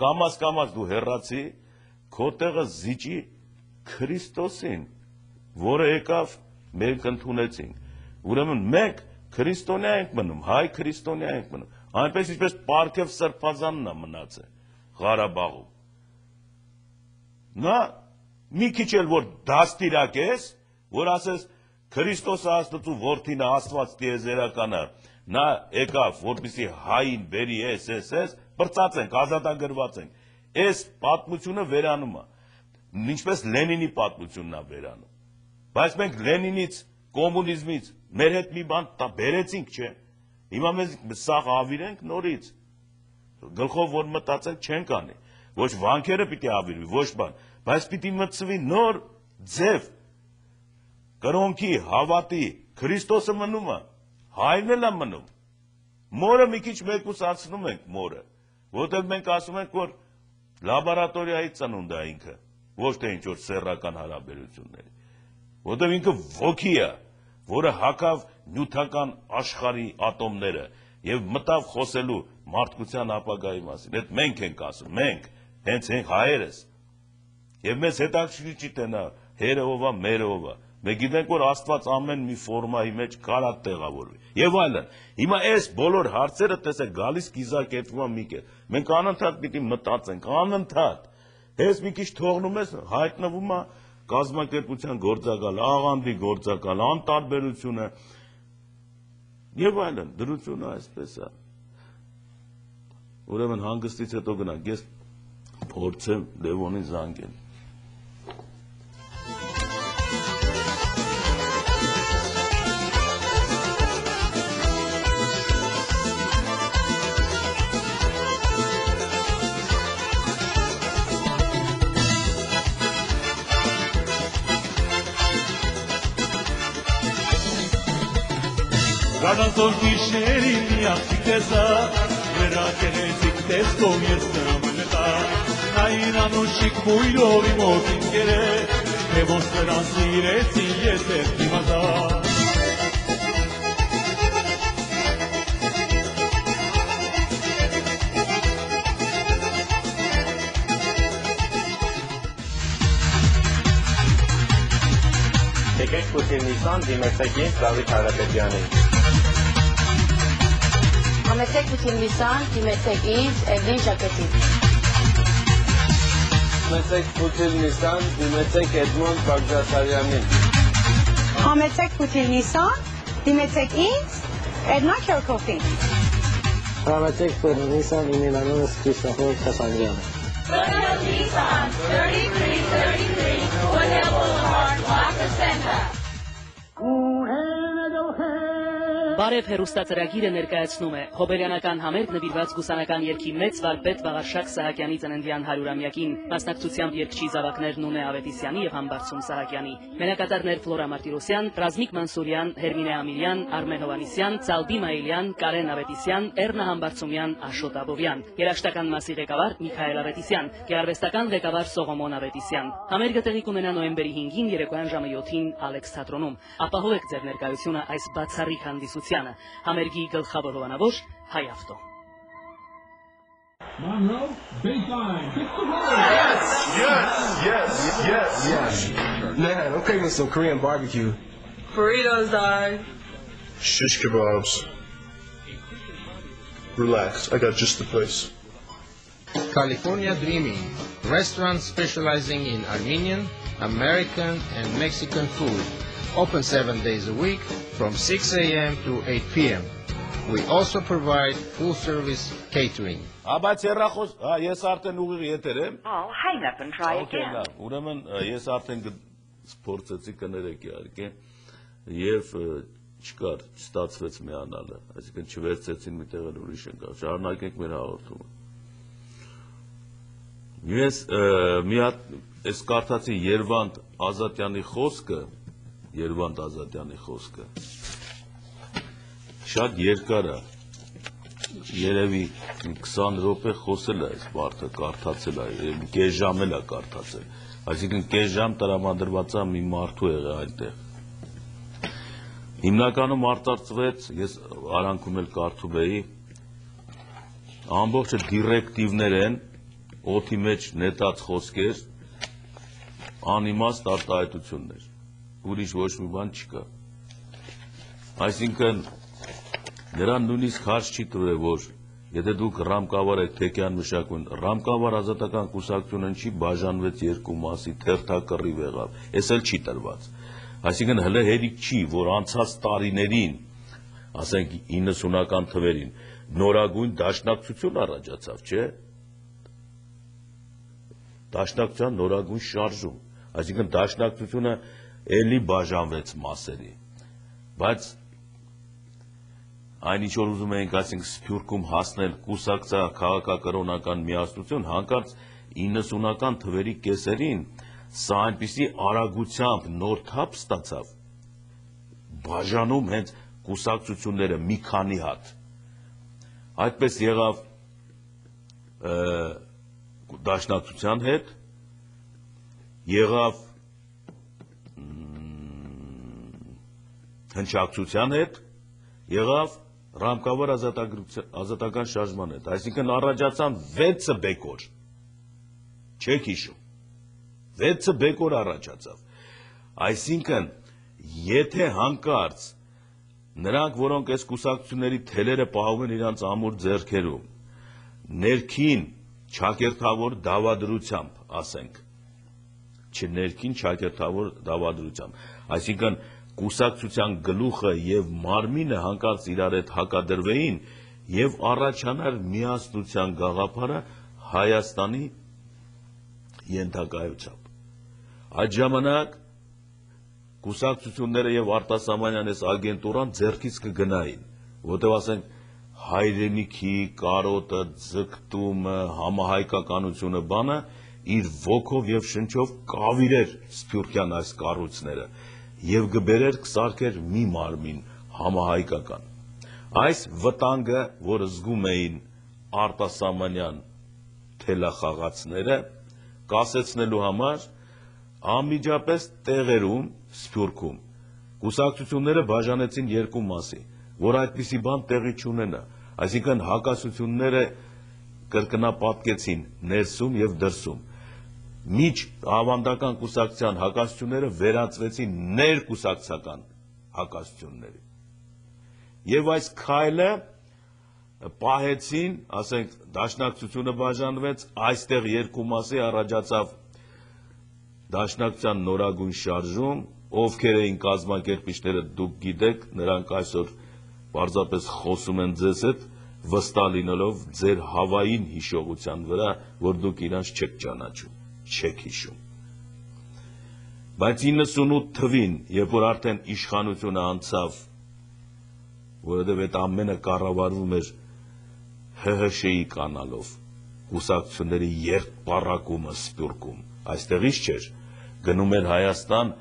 Speaker 1: կամաց կամաց դու հեռացի, քո տեղը զիջի Քրիստոսին, որը եկավ մենք ընդունեցինք, ուրեմն մենք քրիստոնյա ենք մնում, հայ քրիստոնյա ենք մնում, այնպես ինչպես Պարքև Սրբազանն է մնացել Ղարաբաղում, նա մի քիչ էլ որ դաստիրակ ես, որ ասես Քրիստոսը Աստծու որդին է, Աստված տիեզերականը, նա եկավ, որպեսզի հային բերի էս, էս, էս, պրծած ենք, ազատագրված ենք, այս պատմությունը վերանում է, ինչպես Լենինի պատմությունն է վերանում, բայց մենք Լենինից, կոմունիզմից, մեր հետ մի բան բերեցինք, չէ, հիմա մեզ սաղ ավիրենք նորից, գլխով որ մտածենք չենք անի, ոչ վանքերը պիտի ավիրվի, ոչ բան, բայց պիտի մտցվի նոր ձև, կրոնքի, հավատի, Քրիստոսը մնում է, հայրն էլ է մնում, մորը մի քիչ մեկուսացնում ենք մորը, որտեղ մենք ասում ենք, որ լաբորատորիայի ծնունդ է ինքը, ոչ թե ինչ-որ սեռական հարաբերությունների, որտեղ ինքը ոգի է, որը հակավ նյութական աշխարհի ատոմները և մտավ խոսելու մարդկության ապագայի մասին, այդ մենք ենք ասում, մենք, հենց ենք հայերս, և մեզ հետաքրքիր չի թե նա հերը ով է, մերը ով է, մենք գիտենք, որ Աստված ամեն մի ֆորմայի մեջ կարա տեղավորվի, և այլն, հիմա այս բոլոր հարցերը տեսեք գալիս կիզակերպվում է մի կետ, մենք անընդհատ պիտի մտածենք, անընդհատ, հենց մի քիչ թողնում ես, հայտնվում է կազմակերպության գործակալ, աղանդի գործակալ, անտարբերությունը, և այլն, դրությունը այսպես է, ուրեմն հանգստից հետո գնանք, ես փորձեմ Լևոնին զանգել։
Speaker 2: Գանանցոր գիշերին միացիկ տեսա, վերակերեցիկ տեսքով ես նրան նկա, նա իրան ուշիկ բույրով իմ ոտին կեր է, թե ոնց նրան սիրեցին ես էր դիմադա։
Speaker 3: Եկեք Պուտիննիսան դիմեցեք ինձ Դավիթ Հարապետյանին։
Speaker 4: Համեցեք Պուտիննիսան դիմեցեք ինձ Էվլին Ժակետին։
Speaker 3: Համեցեք Պուտիննիսան դիմեցեք Էդմոնդ Բաղդասարյանին։
Speaker 4: Համեցեք Պուտիննիսան դիմեցեք ինձ Էդնա Քյորքոֆին։
Speaker 5: Համեցեք Պուտիննիսան իմ անունս Քրիստոֆոր Քասանդրյանը։
Speaker 6: Nissan thirty-three thirty-three Woodhill Boulevard, La Crescenta.
Speaker 7: Բարև հեռուստածրագիրը ներկայացնում է հոբելյանական համերգ նվիրված գուսանական երգի մեծ վարպետ Վաղարշակ Սահակյանի ծննդյան հարյուրամյակին, մասնակցությամբ երգչի զավակներ Նունե Ավետիսյանի և Համբարձում Սահակյանի, մենակատարներ Ֆլորա Մարտիրոսյան, Ռազմիկ Մանսուրյան, Հերմինե Ամիրյան, Արմեն Հովանիսյան, Ծալբի Մայիլյան, Կարեն Ավետիսյան, Էռնա Համբարձումյան, Աշոտ Աբովյան, երաժշտական մասի ղեկավար Միքայել Ավետիսյան, գեղարվեստական ղեկավար Սողոմոն Ավետիսյան։ Համերգը տեղի կունենա նոյեմբերի հինգին երեկոյան ժամը յոթին Ալեքս թատրոնում։ Ապահովեք ձեր ներկայությունը այս բացառիկ հանդիսությանը։ Համերգի գլխավոր հովանավոր Հայ ավտո։
Speaker 2: Monroe, baseline.
Speaker 8: Yes, yes, yes, yes, yes.
Speaker 5: Man, I'm craving some Korean barbecue.
Speaker 9: Burritos, dog.
Speaker 8: shish kebabs. Relax, I got just the place.
Speaker 9: California Dreaming, restaurant specializing in Armenian, American, and Mexican food. Open seven days a week from six a m to eight p m We also provide full-service catering.
Speaker 1: Բայց երախոս, հա, ես արդեն ուղիղ եթեր եմ։
Speaker 10: Oh, hang up and try again.
Speaker 1: Ուրեմն ես արդեն փորձեցի կներեք իհարկե եւ չկար, չստացվեց միանալը, այսինքն չվերցեցին մի տեղ ուրիշ ընկա։ Շարունակենք մեր հաղորդումը։ Ես մի հատ այս կարդացի Երվանդ Ազատյանի խոսքը, Երվանդ Ազատյանի խոսքը շատ երկար է, երևի քսան րոպե խոսել է այս մարդը, կարդացել է, կես ժամ էլ է կարդացել, այսինքն կես ժամ տրամադրված է մի մարդու եղել այնտեղ։ Հիմնականում արտարծվեց, ես արանքում էլ կարդում էի, ամբողջը դիրեկտիվներ են, օդի մեջ նետած խոսքեր, անիմաստ արտահայտություններ, ուրիշ ոչ մի բան չկա։ Այսինքն նրան նույնիսկ հարց չի տվել, որ եթե դուք ռամկավար եք Թեքյան մշակույթ, ռամկավար ազատական կուսակցությունն չի բաժանվեց երկու մասի, թերթակռիվ եղավ, այս էլ չի տրված։ Այսինքն հələ հերիք չի, որ անցած տարիներին, ասենք իննսունական թվերին, նորագույն դաշնակցություն առաջացավ, չէ՞։ Դաշնակցության նորագույն շարժում, այսինքն դաշնակցությունը էլի բաժանվեց մասերի, բայց այն ինչ որ ուզում էինք, այսինքն Սփյուռքում հասնել կուսակցա քաղաքակրոնական միասնություն, հանկարծ իննսունական թվերի կեսերին սա այնպիսի արագությամբ նոր թափ ստացավ, բաժանում հենց կուսակցությունները մի քանի հատ, այդպես եղավ դաշնակցության հետ, եղավ հնչակցության հետ, եղավ ռամկավար ազատական շարժման հետ, այսինքն առաջացան վեցը բեկոր, չեք հիշում, վեցը բեկոր առաջացավ, այսինքն եթե հանկարծ նրանք, որոնք այս կուսակցությունների թելերը պահում են իրանց ամուր ձեռքերում, ներքին չակերտավոր դավադրությամբ, ասենք, չներքին չակերտավոր դավադրությամբ, այսինքն կուսակցության գլուխը և մարմինը հանկարծ իրար հետ հակադրվեին և առաջանար միասնության գաղափարը Հայաստանի ենթակայությամբ։ Այդ ժամանակ կուսակցությունները և արտասահմանյան այս ագենտուրան ձեռքից կգնային, որտեղ ասենք հայրենիքի, կարոտը, ձգտումը, համահայկականությունը բանը իր ոգով և շնչով կավիրեր սփյուռքյան այս կառույցները և գբերեր կսարքեր մի մարմին համահայկական։ Այս վտանգը, որ զգում էին արտասահմանյան թելախաղացները, կասեցնելու համար անմիջապես տեղերում Սփյուռքում կուսակցությունները բաժանեցին երկու մասի, որ այդպիսի բան տեղի չունենա, այսինքն հակասությունները կրկնապատկեցին ներսում և դրսում։ Միջ ավանդական կուսակցության հակասությունները վերածվեցին ներկուսակցական հակասությունների։ Եվ այս քայլը պահեցին, ասենք, դաշնակցությունը բաժանվեց, այստեղ երկու մասի առաջացավ դաշնակցության նորագույն շարժում, ովքեր էին կազմակերպիչները դուք գիտեք, նրանք այսօր պարզապես խոսում են ձեզ հետ, վստահ լինելով ձեր հավային հիշողության վրա, որ դուք իրանց չեք ճանաչում, չեք հիշում։ Բայց իննսունութ թվին, երբ որ արդեն իշխանությունը անցավ, որովհետև այդ ամենը կառավարվում էր Հ Հ Շ-ի կանալով, կուսակցությունների երկպառակումը Սփյուռքում, այստեղից չէր, գնում էր Հայաստան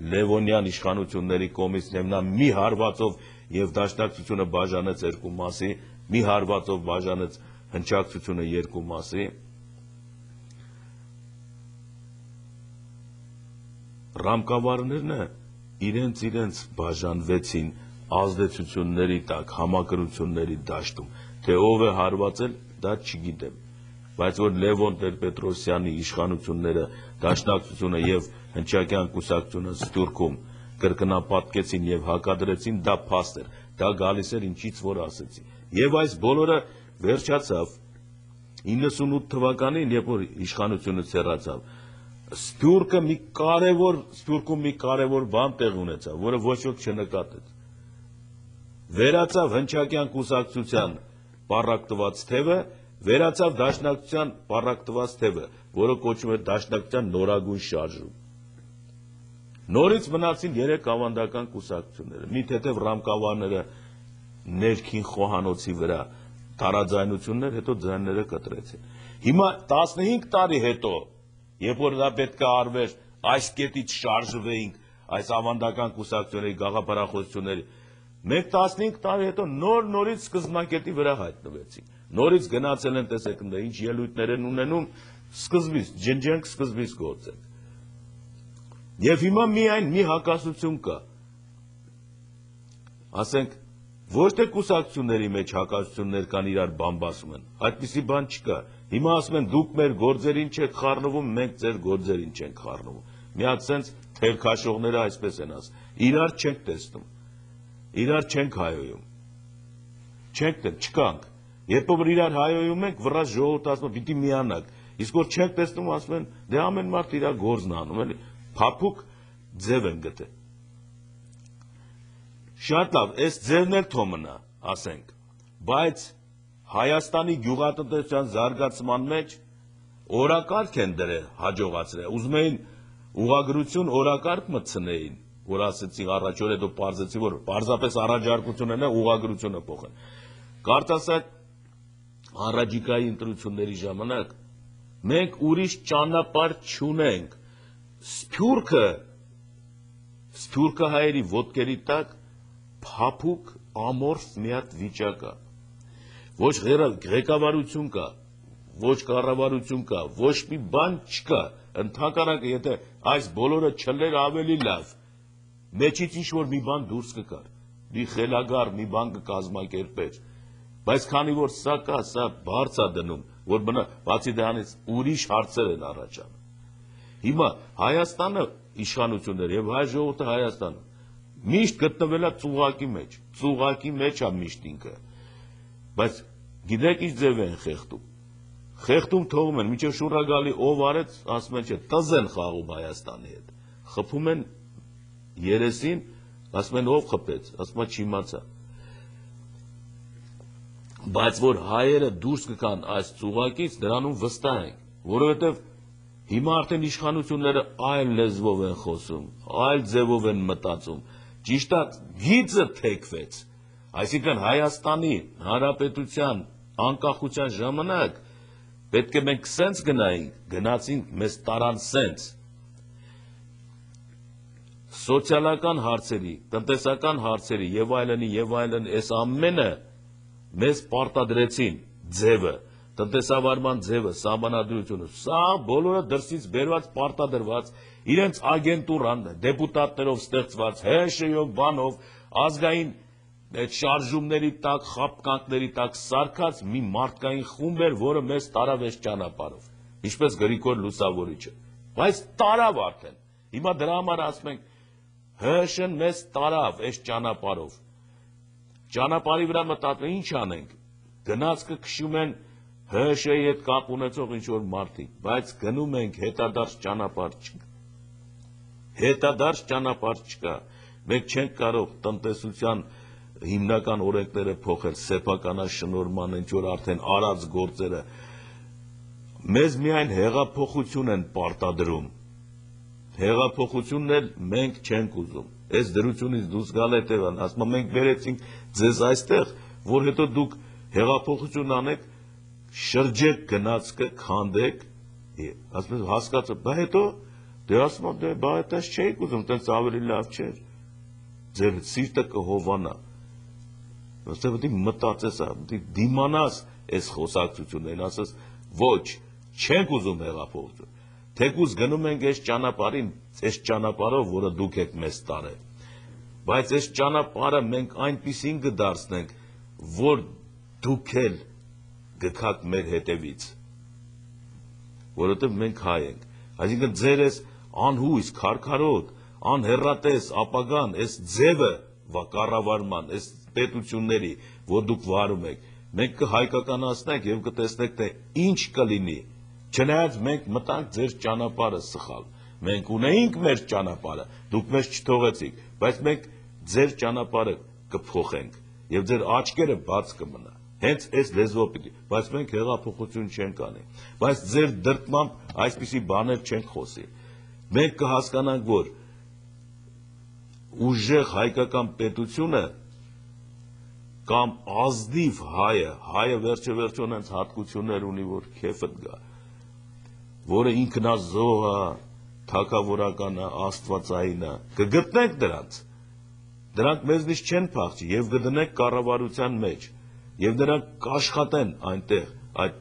Speaker 1: Լևոնյան իշխանությունների կողմից նա մի հարվածով և դաշնակցությունը բաժանեց երկու մասի, մի հարվածով բաժանեց հնչակցությունը երկու մասի, ռամկավարներն իրենց իրենց բաժանվեցին ազդեցությունների տակ, համակրությունների դաշտում, թե ով է հարվածել, դա չգիտեմ, բայց որ Լևոն Տեր-Պետրոսյանի իշխանությունները, դաշնակցությունը և հնչակյան կուսակցությունը Սփյուռքում կրկնապատկեցին և հակադրեցին, դա փաստ էր, դա գալիս էր ինչից որ ասեցի։ Եվ այս բոլորը վերջացավ իննսունութ թվականին, երբ որ իշխանությունից հեռացավ, Սփյուռքը մի կարևոր, Սփյուռքում մի կարևոր բան տեղ ունեցավ, որը ոչ ոք չնկատեց։ Վերացավ հնչակյան կուսակցության պառակտված թևը, վերացավ դաշնակցության պառակտված թևը, որը կոչվում էր դաշնակցության նորագույն շարժում։ Նորից մնացին երեք ավանդական կուսակցությունները, մի թեթև ռամկավարները ներքին խոհանոցի վրա տարաձայնություններ, հետո ձայները կտրեցին։ Հիմա տասնհինգ տարի հետո, երբ որ դա պետք է արվեր, այս կետից շարժվեինք, այս ավանդական կուսակցությունների գաղափարախոսությունների, մենք տասնհինգ տարի հետո նոր նորից սկզբնակետի վրա հայտնվեցինք։ Նորից գնացել են, տեսեք, ինչ ելույթներ են ունենում, սկզբից, ջնջենք, սկզբից գործենք։ Եվ հիմա միայն մի հակասություն կա։ Ասենք, ոչ թե կուսակցությունների մեջ հակասություններ կան իրար բամբասում են, այդպիսի բան չկա։ Հիմա ասում են դուք մեր գործերին չեք խառնվում, մենք ձեր գործերին չենք խառնվում։ Մի հատ սենց թերքաշողները այսպես են ասում, իրար չենք տեսնում, իրար չենք հայոյում, չենք տեն, չկանք։ Երբ որ իրար հայոյում ենք, վրաց ժողովուրդը ասում է պիտի միանաք, իսկ որ չենք տեսնում, ասում են դե ամեն մարդ իր գործն անում, էլի փափուկ ձև են գտել։ Շատ լավ, այս ձևն էլ թո մնա, ասենք, բայց Հայաստանի գյուղատնտեսության զարգացման մեջ օրակարգ են դրել հաջողացրել, ուզում էին ուղղագրություն օրակարգ մտցնեին, որ ասեցի առաջ օր հետո պարզեցի, որ պարզապես առաջարկություն են ուղղագրությունը փոխեն։ Կարծասակ առաջիկայի ընտրությունների ժամանակ մենք ուրիշ ճանապարհ չունենք։ Սփյուռքը, Սփյուռքը հայերի ոտքերի տակ փափուկ ամորֆ մի հատ վիճակ կա։ Ոչ ղեկավարություն կա, ոչ կառավարություն կա, ոչ մի բան չկա։ Ընդհանրապես եթե այս բոլորը չլեր ավելի լավ, մեջից ինչ որ մի բան դուրս կգար, մի խելագար մի բան կկազմակերպեր։ Բայց քանի որ սա կա, սա բարձ է դնում, որ բնա բացի դրանից ուրիշ հարցեր են առաջանում։ Հիմա Հայաստանը իշխանություններ եւ հայ ժողովուրդը Հայաստանը միշտ գտնվել է ծուղակի մեջ, ծուղակի մեջ է միշտ ինքը։ Բայց գիտեք ինչ ձև են խեղդում։ Խեղդում թողում են, մինչև շուռա գալի ով արեց, ասում են չէ, տզ են խաղում Հայաստանի հետ։ Խփում են երեսին, ասում են ով խփեց, ասում է չիմացա։ Բայց որ հայերը դուրս կգան այս ծուղակից, դրանում վստահ ենք, որովհետև հիմա արդեն իշխանությունները այլ լեզվով են խոսում, այլ ձևով են մտածում։ Ճիշտ է, գիծը թեքվեց, այսինքն Հայաստանի Հանրապետության անկախության ժամանակ պետք է մենք սենց գնայինք, գնացինք, մեզ տարան սենց։ Սոցիալական հարցերի, տնտեսական հարցերի եւ այլնի եւ այլն, այս ամենը մեզ պարտադրեցին ձևը, տնտեսավարման ձևը, սահմանադրությունը, սա բոլորը դրսից բերված պարտադրված, իրենց ագենտուրան, դեպուտատներով ստեղծված, հեշեյով, բանով, ազգային շարժումների տակ, խապկանքների տակ սարքած մի մարդկային խումբ էր, որը մեզ տարավ այս ճանապարհով, ինչպես Գրիգոր Լուսավորիչը, բայց տարավ արդեն, հիմա դրա համար ասում ենք, հեշեն մեզ տարավ այս ճանապարհով, ճանապարհի վրա մտածում ինչ անենք, գնացքը քշում են հեշեի հետ կապ ունեցող ինչ-որ մարդիկ, բայց գնում ենք հետադարձ ճանապարհ չկա, հետադարձ ճանապարհ չկա, մենք չենք կարող տնտեսության հիմնական օրենքները փոխել, սեփականաշնորհման ինչ-որ արդեն արած գործերը, մեզ միայն հեղափոխություն են պարտադրում, հեղափոխությունն էլ մենք չենք ուզում, այս դրությունից դուրս գալ հետևան, ասում եմ մենք բերեցինք ձեզ այստեղ, որ հետո դուք հեղափոխություն անեք, շրջեք գնացքը, քանդեք, ասում եմ հասկացա, բա հետո դե ասում եմ դե բա այդպես չէիք ուզում, տենց ավելի լավ չէր, ձեր սիրտը կհովանա, ըստեղ պետք է մտածես, դիմանաս այս խոսակցություններին, ասես ոչ, չենք ուզում հեղափոխություն, թեկուզ գնում ենք այս ճանապարհին, այս ճանապարհով, որը դուք եք մեզ տարել, բայց այս ճանապարհը մենք այնպիսին կդարձնենք, որ դուք էլ գքաք մեր հետևից, որովհետև մենք հայ ենք, այսինքն ձեր այս անհույս, քարքարոտ, անհեռատես ապագան, այս ձևը կառավարման, այս պետությունների, որ դուք վարում եք, մենք կհայկականացնենք եւ կտեսնենք թե ինչ կլինի։ Չնայած մենք մտանք ձեր ճանապարհը սխալ։ Մենք ունեինք մեր ճանապարհը, դուք մեզ չթողեցիք, բայց մենք ձեր ճանապարհը կփոխենք եւ ձեր աչքերը բաց կմնա։ Հենց այս լեզվով պիտի, բայց մենք հեղափոխություն չենք անի։ Բայց ձեր դրդմամբ այսպիսի բաներ չենք խոսի։ Մենք կհասկանանք, որ ուժեղ հայկական պետությունը կամ ազնիվ հայը, հայը վերջը վերջոն հենց հատկություններ ունի, որ քեֆդ գա, որը ինքնազոհ է, թագավորական է, աստվածային է, կգտնենք դրանց։ Դրանք մեզնից չեն փախչի եւ կդնենք կառավարության մեջ եւ դրանք կաշխատեն այնտեղ այդ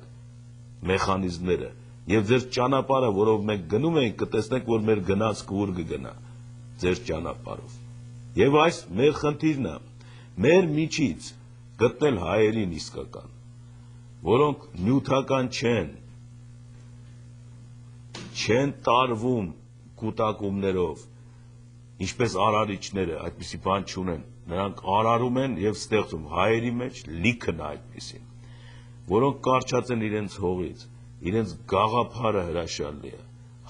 Speaker 1: մեխանիզմները եւ ձեր ճանապարհը, որով մենք գնում ենք, կտեսնենք, որ մեր գնացքը ուր կգնա ձեր ճանապարհով։ Եվ այս մեր խնդիրն է, մեր միջից գտնել հայերին իսկական, որոնք նյութական չեն, չեն տարվում կուտակումներով, ինչպես արարիչները, այդպիսի բան չունեն, նրանք արարում են եւ ստեղծում, հայերի մեջ լիքն է այդպիսին, որոնք կարճած են իրենց հողից, իրենց գաղափարը հրաշալի է,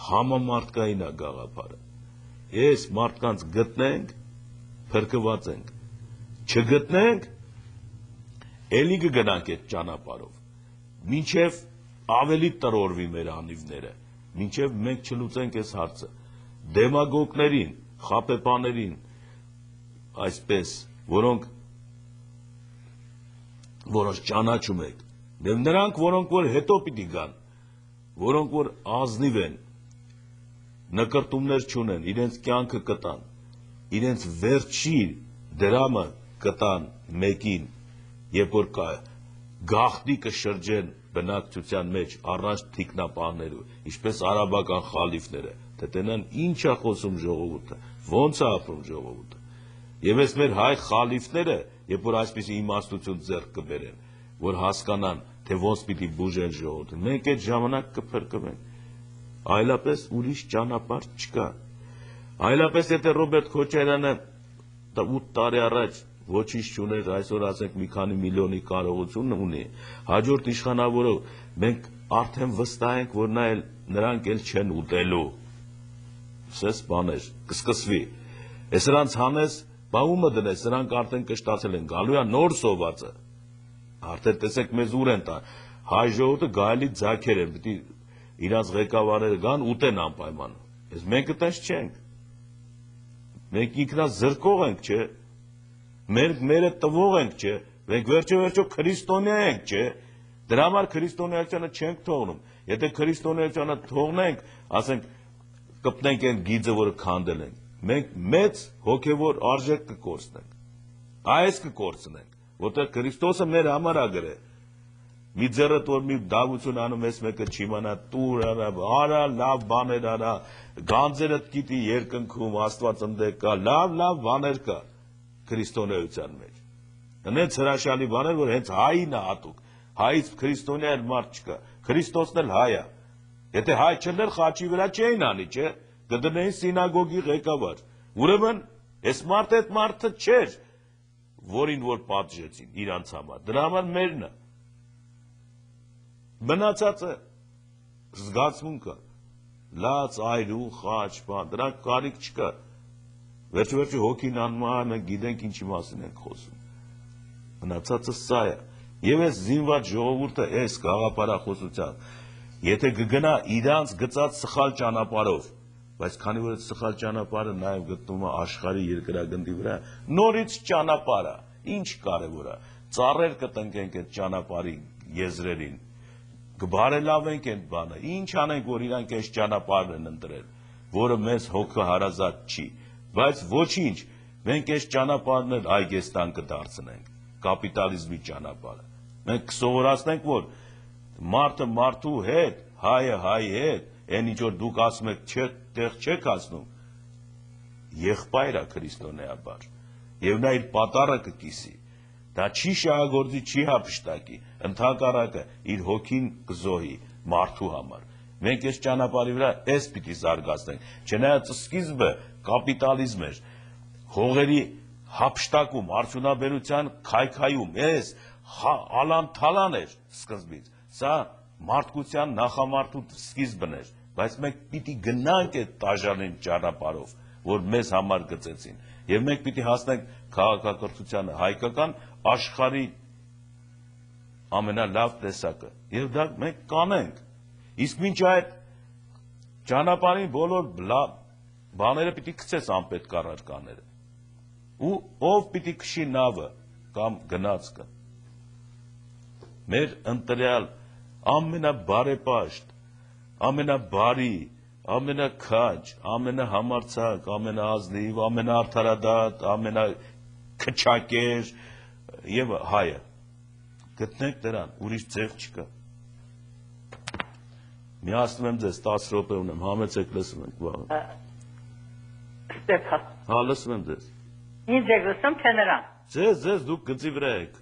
Speaker 1: համամարտկային է գաղափարը։ Ես մարդկանց գտնենք, փրկված ենք, չգտնենք, էլի կգնանք այդ ճանապարհով, մինչև ավելի տրորվի մեր անիվները, մինչև մենք չլուծենք այս հարցը, դեմագոգներին, խապեպաներին, այսպես, որոնք որոնց ճանաչում եք, եւ նրանք, որոնք որ հետո պիտի գան, որոնք որ ազնիվ են, նկրտումներ չունեն, իրենց կյանքը կտան, իրենց վերջի դրամը կտան մեկին, երբ որ գաղտնի կշրջեն բնակչության մեջ առանց թիկնապահներու, ինչպես արաբական խալիֆները, թե տենան ինչ է խոսում ժողովուրդը, ոնց է ապրում ժողովուրդը։ Եվ այս մեր հայ խալիֆները, երբ որ այսպիսի իմաստություն ձեռք կբերեն, որ հասկանան, թե ոնց պիտի բուժեն ժողովուրդը, մենք այդ ժամանակ կփրկվենք։ Այլապես ուրիշ ճանապարհ չկա։ Այլապես եթե Ռոբերտ Քոչարյանը ութ տարի առաջ ոչինչ չուներ, այսօր ասենք մի քանի միլիոնի կարողություն ունի, հաջորդ իշխանավորով մենք արդեն վստահ ենք, որ նա էլ նրանք էլ չեն ուտելու։ Սես բաներ, կսկսվի։ Ես նրանց հանես, բա ումը դնես, նրանք արդեն կշտացել են, գալու է նոր սովածը։ Արդեն տեսեք մեզ ուր են տան։ Հայ ժողովուրդը գայելի ձագեր են, պիտի իրանց ղեկավարները գան ուտեն անպայման։ Ես մենք այդպես չենք։ Մենք ինքնազրկող ենք, չէ։ Մենք մերը տվող ենք, չէ։ Մենք վերջը վերջո քրիստոնյա ենք, չէ։ Դրա համար քրիստոնեությունը չենք թողնում։ Եթե քրիստոնեությունը թողնենք, ասենք կպնենք այն գիծը, որը քանդել ենք, մենք մեծ հոգևոր արժեք կկորցնենք, այս կկորցնենք, որտեղ Քրիստոսը մեր համար ա գրել, մի ձեռդ որ մի դավություն անում ես մեկը չիմանա, տուր արա, արա, լավ բաներ արա, գանձերդ գիտի երկնքում, Աստված ընդե կա, լավ, լավ բաներ կա քրիստոնեության մեջ, հենց հրաշալի բաներ, որ հենց հային է հատուկ, հայից քրիստոնյա էլ մարդ չկա, Քրիստոսն էլ հայ է։ Եթե հայ չներ խաչի վրա չէին անի, չէ, կդնեին սինագոգի ղեկավար։ Ուրեմն, այս մարդը այդ մարդը չէր, որին որ պատժեցին իրանց համար, դրա համար մերն է։ Մնացածը զգացմունքը, լաց, այրու, խաչ, բան, դրանք կարիք չկա։ Վերջը վերջը հոգին անում է, մենք գիտենք ինչի մասին ենք խոսում։ Մնացածը սա է։ Եվ այս զինված ժողովուրդը այս գաղափարախոսության եթե կգնա իրանց գծած սխալ ճանապարհով, բայց քանի որ այդ սխալ ճանապարհը նաև գտնվում է աշխարհի երկրագնդի վրա, նորից ճանապարհը, ինչ կարևոր է, ծառեր կտնկենք այդ ճանապարհի եզրերին, կբարելավենք այդ բանը, ինչ անենք, որ իրանք այս ճանապարհն են ընտրել, որը մեզ հոգը հարազատ չի, բայց ոչինչ, մենք այս ճանապարհն էլ այգեստան կդարձնենք, կապիտալիզմի ճանապարհը, մենք կսովորացնենք, որ մարդը մարդու հետ, հայը հայի հետ, այն ինչ որ դուք ասում եք, տեղ չեք ասնում, եղբայր է քրիստոնեաբար, եւ նա իր պատառը կկիսի, դա չի շահագործի, չի հափշտակի, ընդհակառակը իր հոգին կզոհի մարդու համար։ Մենք այս ճանապարհի վրա էս պիտի զարգացնենք, չնայած սկիզբը կապիտալիզմ էր, հողերի հապշտակում, արդյունաբերության քայքայում, ես ալան-թալան էր սկզբից, սա մարդկության նախամարդու սկիզբն էր, բայց մենք պիտի գնանք այդ տաժանին ճանապարհով, որ մեզ համար գծեցին, եւ մենք պիտի հասնենք քաղաքակրթությանը հայկական աշխարհի ամենալավ տեսակը, եւ դա մենք կանենք, իսկ մինչ այդ ճանապարհին բոլոր բաները պիտի գցես անպետք առարկաները, ու ով պիտի քշի նավը կամ գնացքը, մեր ընտրյալ ամենաբարեպաշտ, ամենաբարի, ամենաքաջ, ամենահամարձակ, ամենաազնիվ, ամենաարդարադատ, ամենաքչակեր եւ հայը։ Գտնենք դրան, ուրիշ ձև չկա։ Միացնում եմ ձեզ տասը րոպե ունեմ, համեցեք լսում ենք վաղը։
Speaker 10: Ստեփան։
Speaker 1: Հա, լսում եմ ձեզ։
Speaker 10: Ինձ եք լսում, թե նրան։
Speaker 1: Ձեզ, ձեզ դուք գծի վրա եք։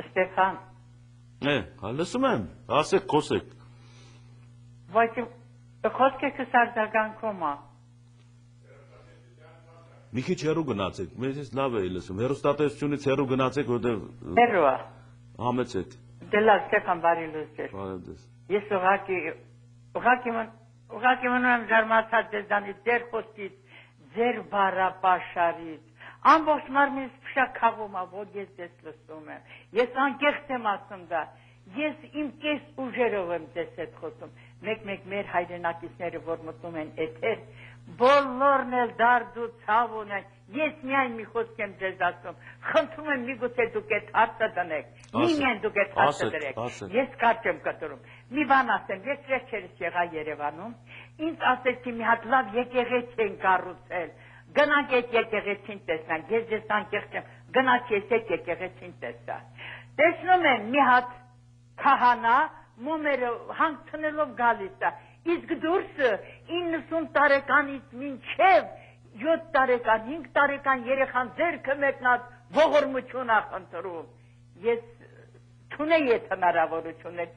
Speaker 10: Ստեփան։
Speaker 1: Է, հա, լսում եմ, ասեք, խոսեք։
Speaker 10: Բայց խոսքը կսարձագանքում է։
Speaker 1: Մի քիչ հեռու գնացեք, մեզ լավ էի լսում, հեռուստատեսությունից հեռու գնացեք, որտեղ
Speaker 10: Հեռու է։
Speaker 1: Համեցեք։
Speaker 10: Դե լավ, Ստեփան, բարի լույս։
Speaker 1: Բարև ձեզ։
Speaker 10: Ես ուղղակի ուղղակի ուղղակի մնում եմ զարմացած ձեզանից, ձեր խոսքից, ձեր բառապաշարից, ամբողջ մարմինս փշաքաղում է, որ ես ձեզ լսում եմ։ Ես անկեղծ եմ ասում դա։ Ես իմ կես ուժերով եմ ձեզ հետ խոսում։ Մեկ-մեկ մեր հայրենակիցները, որ մտնում են էթեր, բոլորն էլ դարդ ու ցավ ունեն։ Ես միայն մի խոսք եմ ձեզ ասում։ Խնդրում եմ միգուցե դուք այդ հարցը դնեք։ Միմիայն դուք այդ հարցը դրեք։ Ես կարճ եմ կտրում։ Մի բան ասեմ, ես վերջերս եղա Երևանում, ինձ ասեցի մի հատ լավ եկեղեցի են կառուցել։ Գնանք այդ եկեղեցին տեսնանք, ես ձեզ անկեղծ եմ, գնաց ես այդ եկեղեցին տեսա։ Տեսնում եմ մի հատ քահանա մոմերը հանգցնելով գալիս է, իսկ դուրսը իննսուն տարեկանից մինչև յոթ տարեկան, հինգ տարեկան երեխան ձեռքը մեկնած ողորմություն է խնդրում։ Ես չունեի այդ հնարավորություններ,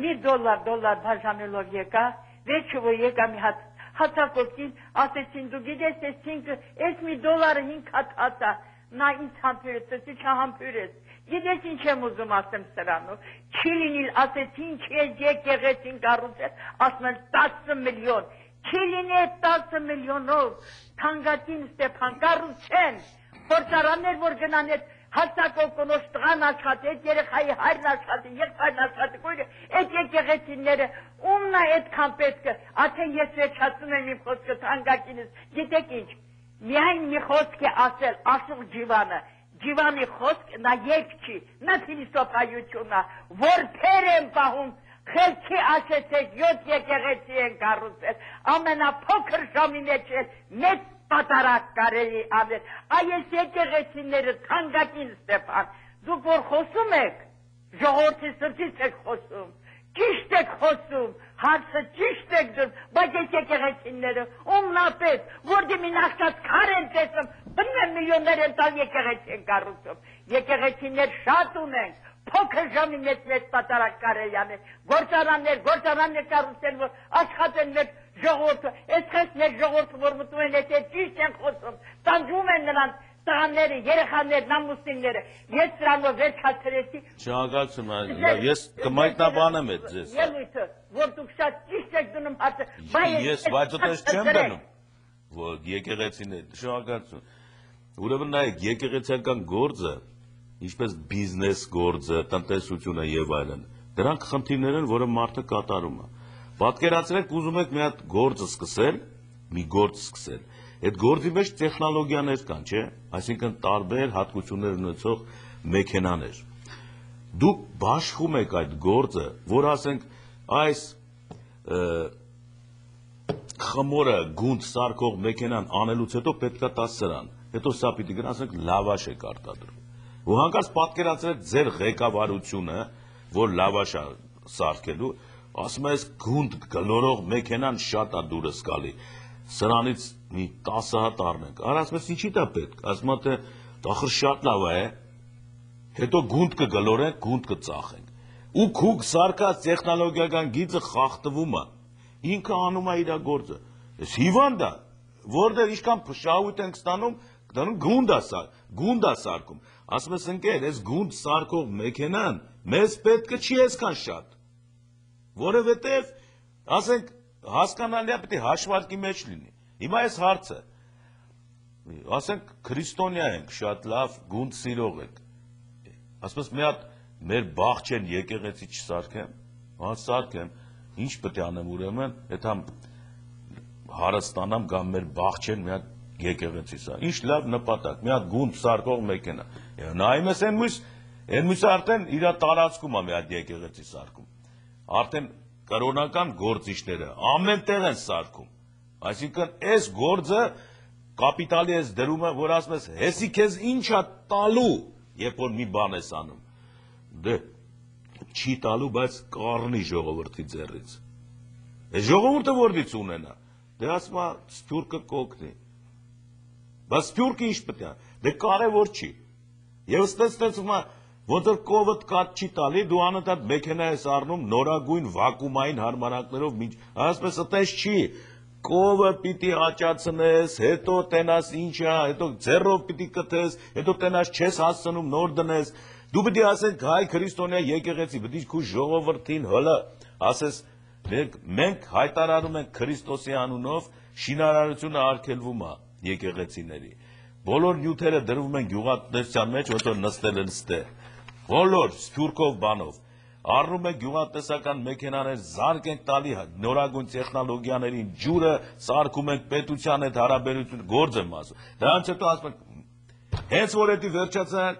Speaker 10: մի դոլար, դոլար բաժանելով եկա, վերջը որ եկա մի հատ հացակոպտին, ասեցին դու գիտես, ես ինքը, ես մի դոլարը հինգ հատ հացա, նա ինձ համբյուրեց, ասի չհամբյուրեց, գիտես ինչ եմ ուզում ասեմ սրանով, չի լինիլ, ասեցի ինչ ես եկեղեցին կառուցել, ասում են տասը միլիոն, չի լինի այդ տասը միլիոնով, թանկագին Ստեփան կառուցեն, փորձարաններ որ գնան այդ հաստակով կնոջ տղան աշխատի, այդ երեխայի հայրն աշխատի, եղբայրն աշխատի, կույրը, այդ եկեղեցիները, ումն է այդքան պետքը, արդեն ես վերջացնում եմ իմ խոսքը թանկագինս, գիտեք ինչ, միայն մի խոսք է ասել, Աշուղ Ջիվանը, Ջիվանի խոսք, նա երկ չի, նա փիլիսոփայություն է, որ փեր են պահում, խելքի ասեցեք, յոթ եկեղեցի են կառուցել, ամենափոքր ժամի մեջ էլ մեծ պատարակ կարելի անել, այս եկեղեցիները թանկագին Ստեփան, դուք որ խոսում եք, ժողովրդի սրտից եք խոսում, ճիշտ եք խոսում, հարցը ճիշտ եք դրում, բայց այս եկեղեցիները ումնապես, որ դիմի նախկած քար են տեսում, բնեմ միլիոններ են տալ եկեղեցի են կառուցում, եկեղեցիներ շատ ունենք, փոքր ժամի մեջ մեծ պատարակ կարելի անել, գործարաններ, գործարաններ կառուցել, որ աշխատեն մեր ժողովուրդը, այսպես մեր ժողովուրդը, որ մտնում են այդ ճիշտ են խոսում, տանջում են նրանց տղաները, երեխաներն, ամուսինները, ես սրանով վերջացրեցի։
Speaker 1: Շնորհակալություն, ես կմայտնաբանեմ այդ ձեզ։
Speaker 10: Ելույթը, որ դուք շատ ճիշտ եք դնում հարցը,
Speaker 1: Ես բայց այդպես չեմ դնում, որ եկեղեցիներ, շնորհակալություն։ Ուրեմն նայեք, եկեղեցիական գործը, ինչպես բիզնես գործը, տնտեսությունը եւ այլն, դրանք խնդիրներ են, որը մարդը կատարում է։ Պատկերացրեք, ուզում եք մի հատ գործ սկսել, մի գործ սկսել։ Այդ գործի մեջ տեխնոլոգիաներ կան, չէ՞, այսինքն տարբեր հատկություններ ունեցող մեքենաներ։ Դուք բաշխում եք այդ գործը, որ ասենք այս խմորը գունդ սարքող մեքենան անելուց հետո պետքա տա սրան, հետո սա պիտի գնա, ասենք լավաշ եք արտադրում։ Ու հանկարծ պատկերացրեք ձեր ղեկավարությունը, որ լավաշ է սարքելու, ասում է, այս գունդ գլորող մեքենան շատ է դուրս գալի, սրանից մի տասը հատ առնենք, արա ասում ես ինչի դա պետք, ասում է, թե ախր շատ լավ է, հետո գունդ կգլորենք, գունդ կծախենք, ու քուք սարկած տեխնոլոգիական գիծը խախտվում է, ինքը անում է իր գործը, ես հիվանդ է, որտեղ ինչքան շահույթ ենք ստանում, դառնում գունդա սա, գունդա սարքում։ Ասում ես ընկեր, այս գունդ սարքող մեքենան մեզ պետք չի այսքան շատ։ Որովհետև, ասենք, հասկանալի է պետք է հաշվարկի մեջ լինի։ Հիմա այս հարցը, ասենք, քրիստոնյա ենք, շատ լավ, գունդ սիրող ենք։ Ասում ես մի հատ մեր բաղջեն եկեղեցի չսարքեմ, հա սարքեմ, ինչ պետք է անեմ ուրեմն, այդ համ հարստանամ կամ մեր բաղջեն մի հատ եկեղեցի սա։ Ինչ լավ նպատակ, մի հատ գունդ սարքող մեքենա։ Նայում ես այն մյուս, այն մյուսը արդեն իր տարածքում է մի հատ եկեղեցի սարքում։ Արդեն կրոնական գործիչները ամեն տեղ են սարքում։ Այսինքն այս գործը կապիտալի ես դրումը, որ ասում ես, հեսի քեզ ինչ է տալու, երբ որ մի բան ես անում։ Դե չի տալու, բայց կառնի ժողովրդի ձեռից։ Այս ժողովուրդը որից ունենա։ Դե ասում է, սփյուռքը կօգնի։ Բայց սփյուռքը ինչ պետք է։ Դե կարևոր չի։ Եվ ստեցվում է, ոնց որ կովդ կատ չի տալի, դու անընդհատ մեքենա ես առնում նորագույն վակուումային հարմարանքներով, ասես այդպես չի։ Կովը պիտի աճացնես, հետո տենաս ինչա, հետո ձեռով պիտի կթես, հետո տենաս չես հասցնում նոր դնես։ Դու պիտի ասենք հայ քրիստոնյա եկեղեցի, պիտի քու ժողովրդին հլը, ասես մենք հայտարարում ենք Քրիստոսի անունով շինարարությունը արգելվում է եկեղեցիների։ Բոլոր նյութերը դրվում են գյուղատնտեսության մեջ, ոնց որ նստել են ստե։ Բոլոր սփյուռքով բանով։ Առնում ենք գյուղատնտեսական մեքենաներ, զարկ ենք տալի նորագույն տեխնոլոգիաներին, ջուրը սարքում ենք պետության հետ հարաբերություն, գործ եմ ասում։ Դրանից հետո ասում ենք, հենց որ էդի վերջացան,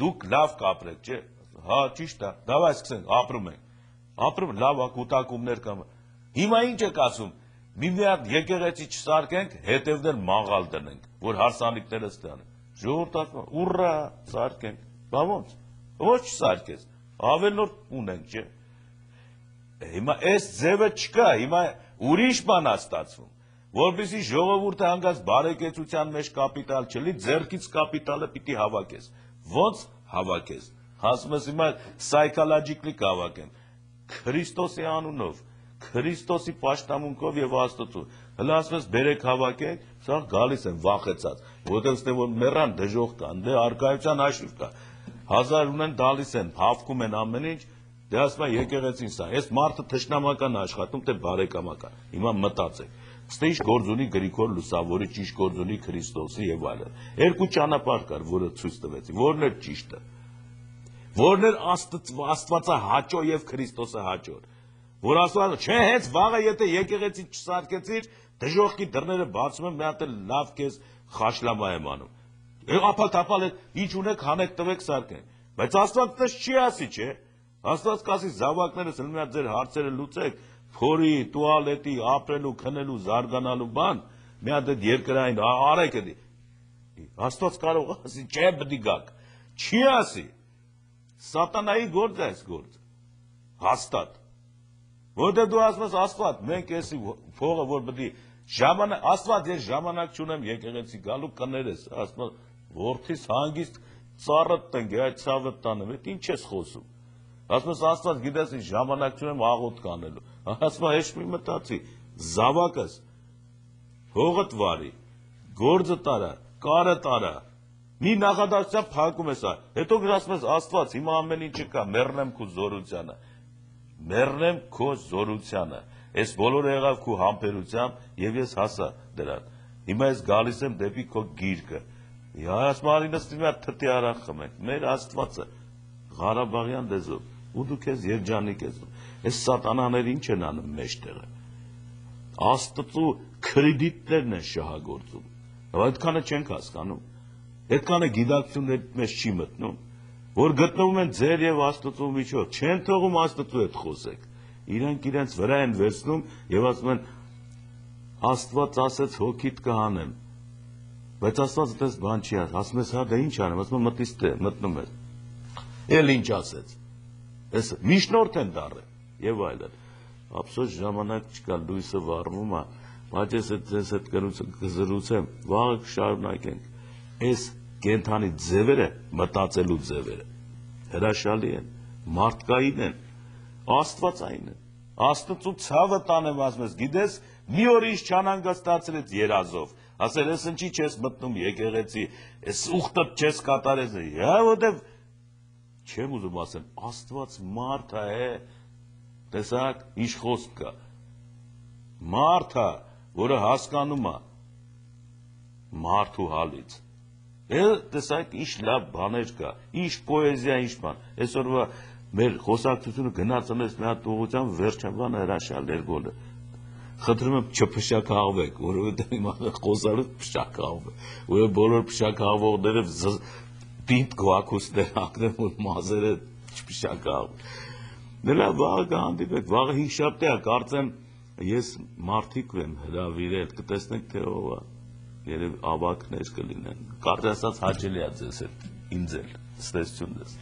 Speaker 1: դուք լավ կապրեք, չէ՞։ Հա, ճիշտ է, դավայ սկսենք, ապրում ենք։ Ապրում լավ կուտակումներ կամ։ Հիմա ինչ եք ասում, մի մի հատ եկեղեցի չսարքենք, հետևներ մաղալ դնենք, որ հարսանիքները ստանան։ Ժողովուրդը ասում է, ուռա, սարքենք։ Բա ոնց։ Ոչ չսարքես։ Ավելորդ ունենք, չէ։ Հիմա այս ձևը չկա, հիմա ուրիշ բան է ստացվում, որպեսզի ժողովուրդը հանգած բարեկեցության մեջ կապիտալ չլի, ձեռքից կապիտալը պիտի հավաքես։ Ոնց հավաքես։ Ասում ես հիմա psychologically կհավաքեմ։ Քրիստոսի անունով, Քրիստոսի պաշտամունքով եւ Աստծո։ Հələ ասում ես բերեք հավաքենք, սա գալիս են վախեցած, որտեղ ստե որ մեռան դժոխք կան, դե արկայության հաշիվ կա։ Հազար ունեն տալիս են, հավքում են ամեն ինչ, դե ասում է եկեղեցին սա, այս մարդը թշնամական աշխատում, թե բարեկամական, հիմա մտածեք, ստե ինչ գործ ունի Գրիգոր Լուսավորիչ, ինչ գործ ունի Քրիստոսի եւ այլն, երկու ճանապարհ կար, որը ցույց տվեցի, որն էր ճիշտը, որն էր Աստվածը հաճո եւ Քրիստոսը հաճո, որ ասում է, չէ, հենց վաղը եթե եկեղեցին չսարքեցիր, դժոխքի դռները բացում են, մի հատ լավ քեզ խաշլամա եմ անում։ Ապալ-թապալ ինչ ունեք հանեք տվեք սարքեն, բայց Աստված տես չի ասի, չէ, Աստված կասի զավակներս մի հատ ձեր հարցերը լուծեք, փորի, տուալետի, ապրելու, քնելու, զարգանալու բան, մի հատ այդ երկրային արեք էդի, Աստված կարող ասի, չէ բդի գակ, չի ասի, սատանայի գործ է այս գործ, հաստատ, որտեղ դու ասում ես Աստված, մենք էսի փողը, որ բդի, Աստված ես ժամանակ չունեմ եկեղեցի գալու կներես, ասում ես Որդիս հանգիստ ծառըտ տնք, այդ ցավը տանեմ, այդ ինչ ես խոսում։ Ասում ես Աստված գիտես ինչ ժամանակ չունեմ աղոտ կանելու։ Ասում ես հեշտ մի մտածի, զավակս, հողդ վարի, գործը տարա, կարը տարա, մի նախադասությամբ փակում ես ա, հետո ասում ես Աստված, հիմա ամեն ինչը կա, մեռնեմ քո զորությանը, մեռնեմ քո զորությանը, այս բոլորը եղավ քո համբերությամբ եւ ես հասա դրան։ Հիմա ես գալիս եմ դեպի քո գիրկը։ Ասմարի նստի մի հատ թթի արախ խմենք, մեր Աստվածը, Ղարաբաղյան լեզվով, ու դու քեզ երջանիկ ես դու, այս սատանաները ինչ են անում մեջտեղը, Աստծո կրեդիտներն են շահագործում, այդքանը չենք հասկանում, այդքանը գիտակցություններ մեջ չի մտնում, որ գտնվում են ձեր եւ Աստծո միջոց, չեն թողում Աստծո հետ խոսեք, իրանք իրենց վրա են վերցնում եւ ասում են Աստված ասեց հոգիդ կհանեմ, բայց Աստված այդպես բան չի ասում, ասում ես հա դա ինչ անեմ, ասում եմ մտից թե մտնում ես, էլ ինչ ասեց, ես միջնորդ են դառել եւ այլն, ափսոս ժամանակ չկա, լույսը վառվում է, բայց ես այս հետ կզրուցեմ, վաղը կշարունակենք, այս կենթանի ձևերը մտածելու ձևերը հրաշալի են, մարդկային են, Աստվածային են, Աստծո ցավը տանեմ ասում ես, գիտես մի օր ինչ չանհանգստացրեց երազով, ասել ես ինչի չես մտնում եկեղեցի, այս ուխտը չես կատարես, հա որտեվ չեմ ուզում ասեմ, Աստված մարդ է, տեսակ, ինչ խոսք կա, մարդ է, որը հասկանում է մարդու հալից, տեսակ, ինչ լավ բաներ կա, ինչ պոեզիա, ինչ բան, այսօրվա մեր խոսակցությունը գնացնես մի հատ ուղղությամբ վերջաբանը հրաշալ երգոլը, խնդրում եմ չփշակաղվեք, որովհետև հիմա խոսալուց փշակաղվեք, ու բոլոր փշակաղվողները պինդ գոակուսներ ակնեմ, որ մազերը չփշակաղվեն։ Նրա վաղը կհանդիպեք, վաղը հինգշաբթի է, կարծեմ ես մարդիկ եմ հրավիրել, կտեսնեք թե ով է, երևի ավագներ կլինեն, կարծես ասած հաճելի է ձեզ հետ, ինձ էլ, ստեսություն ձեզ։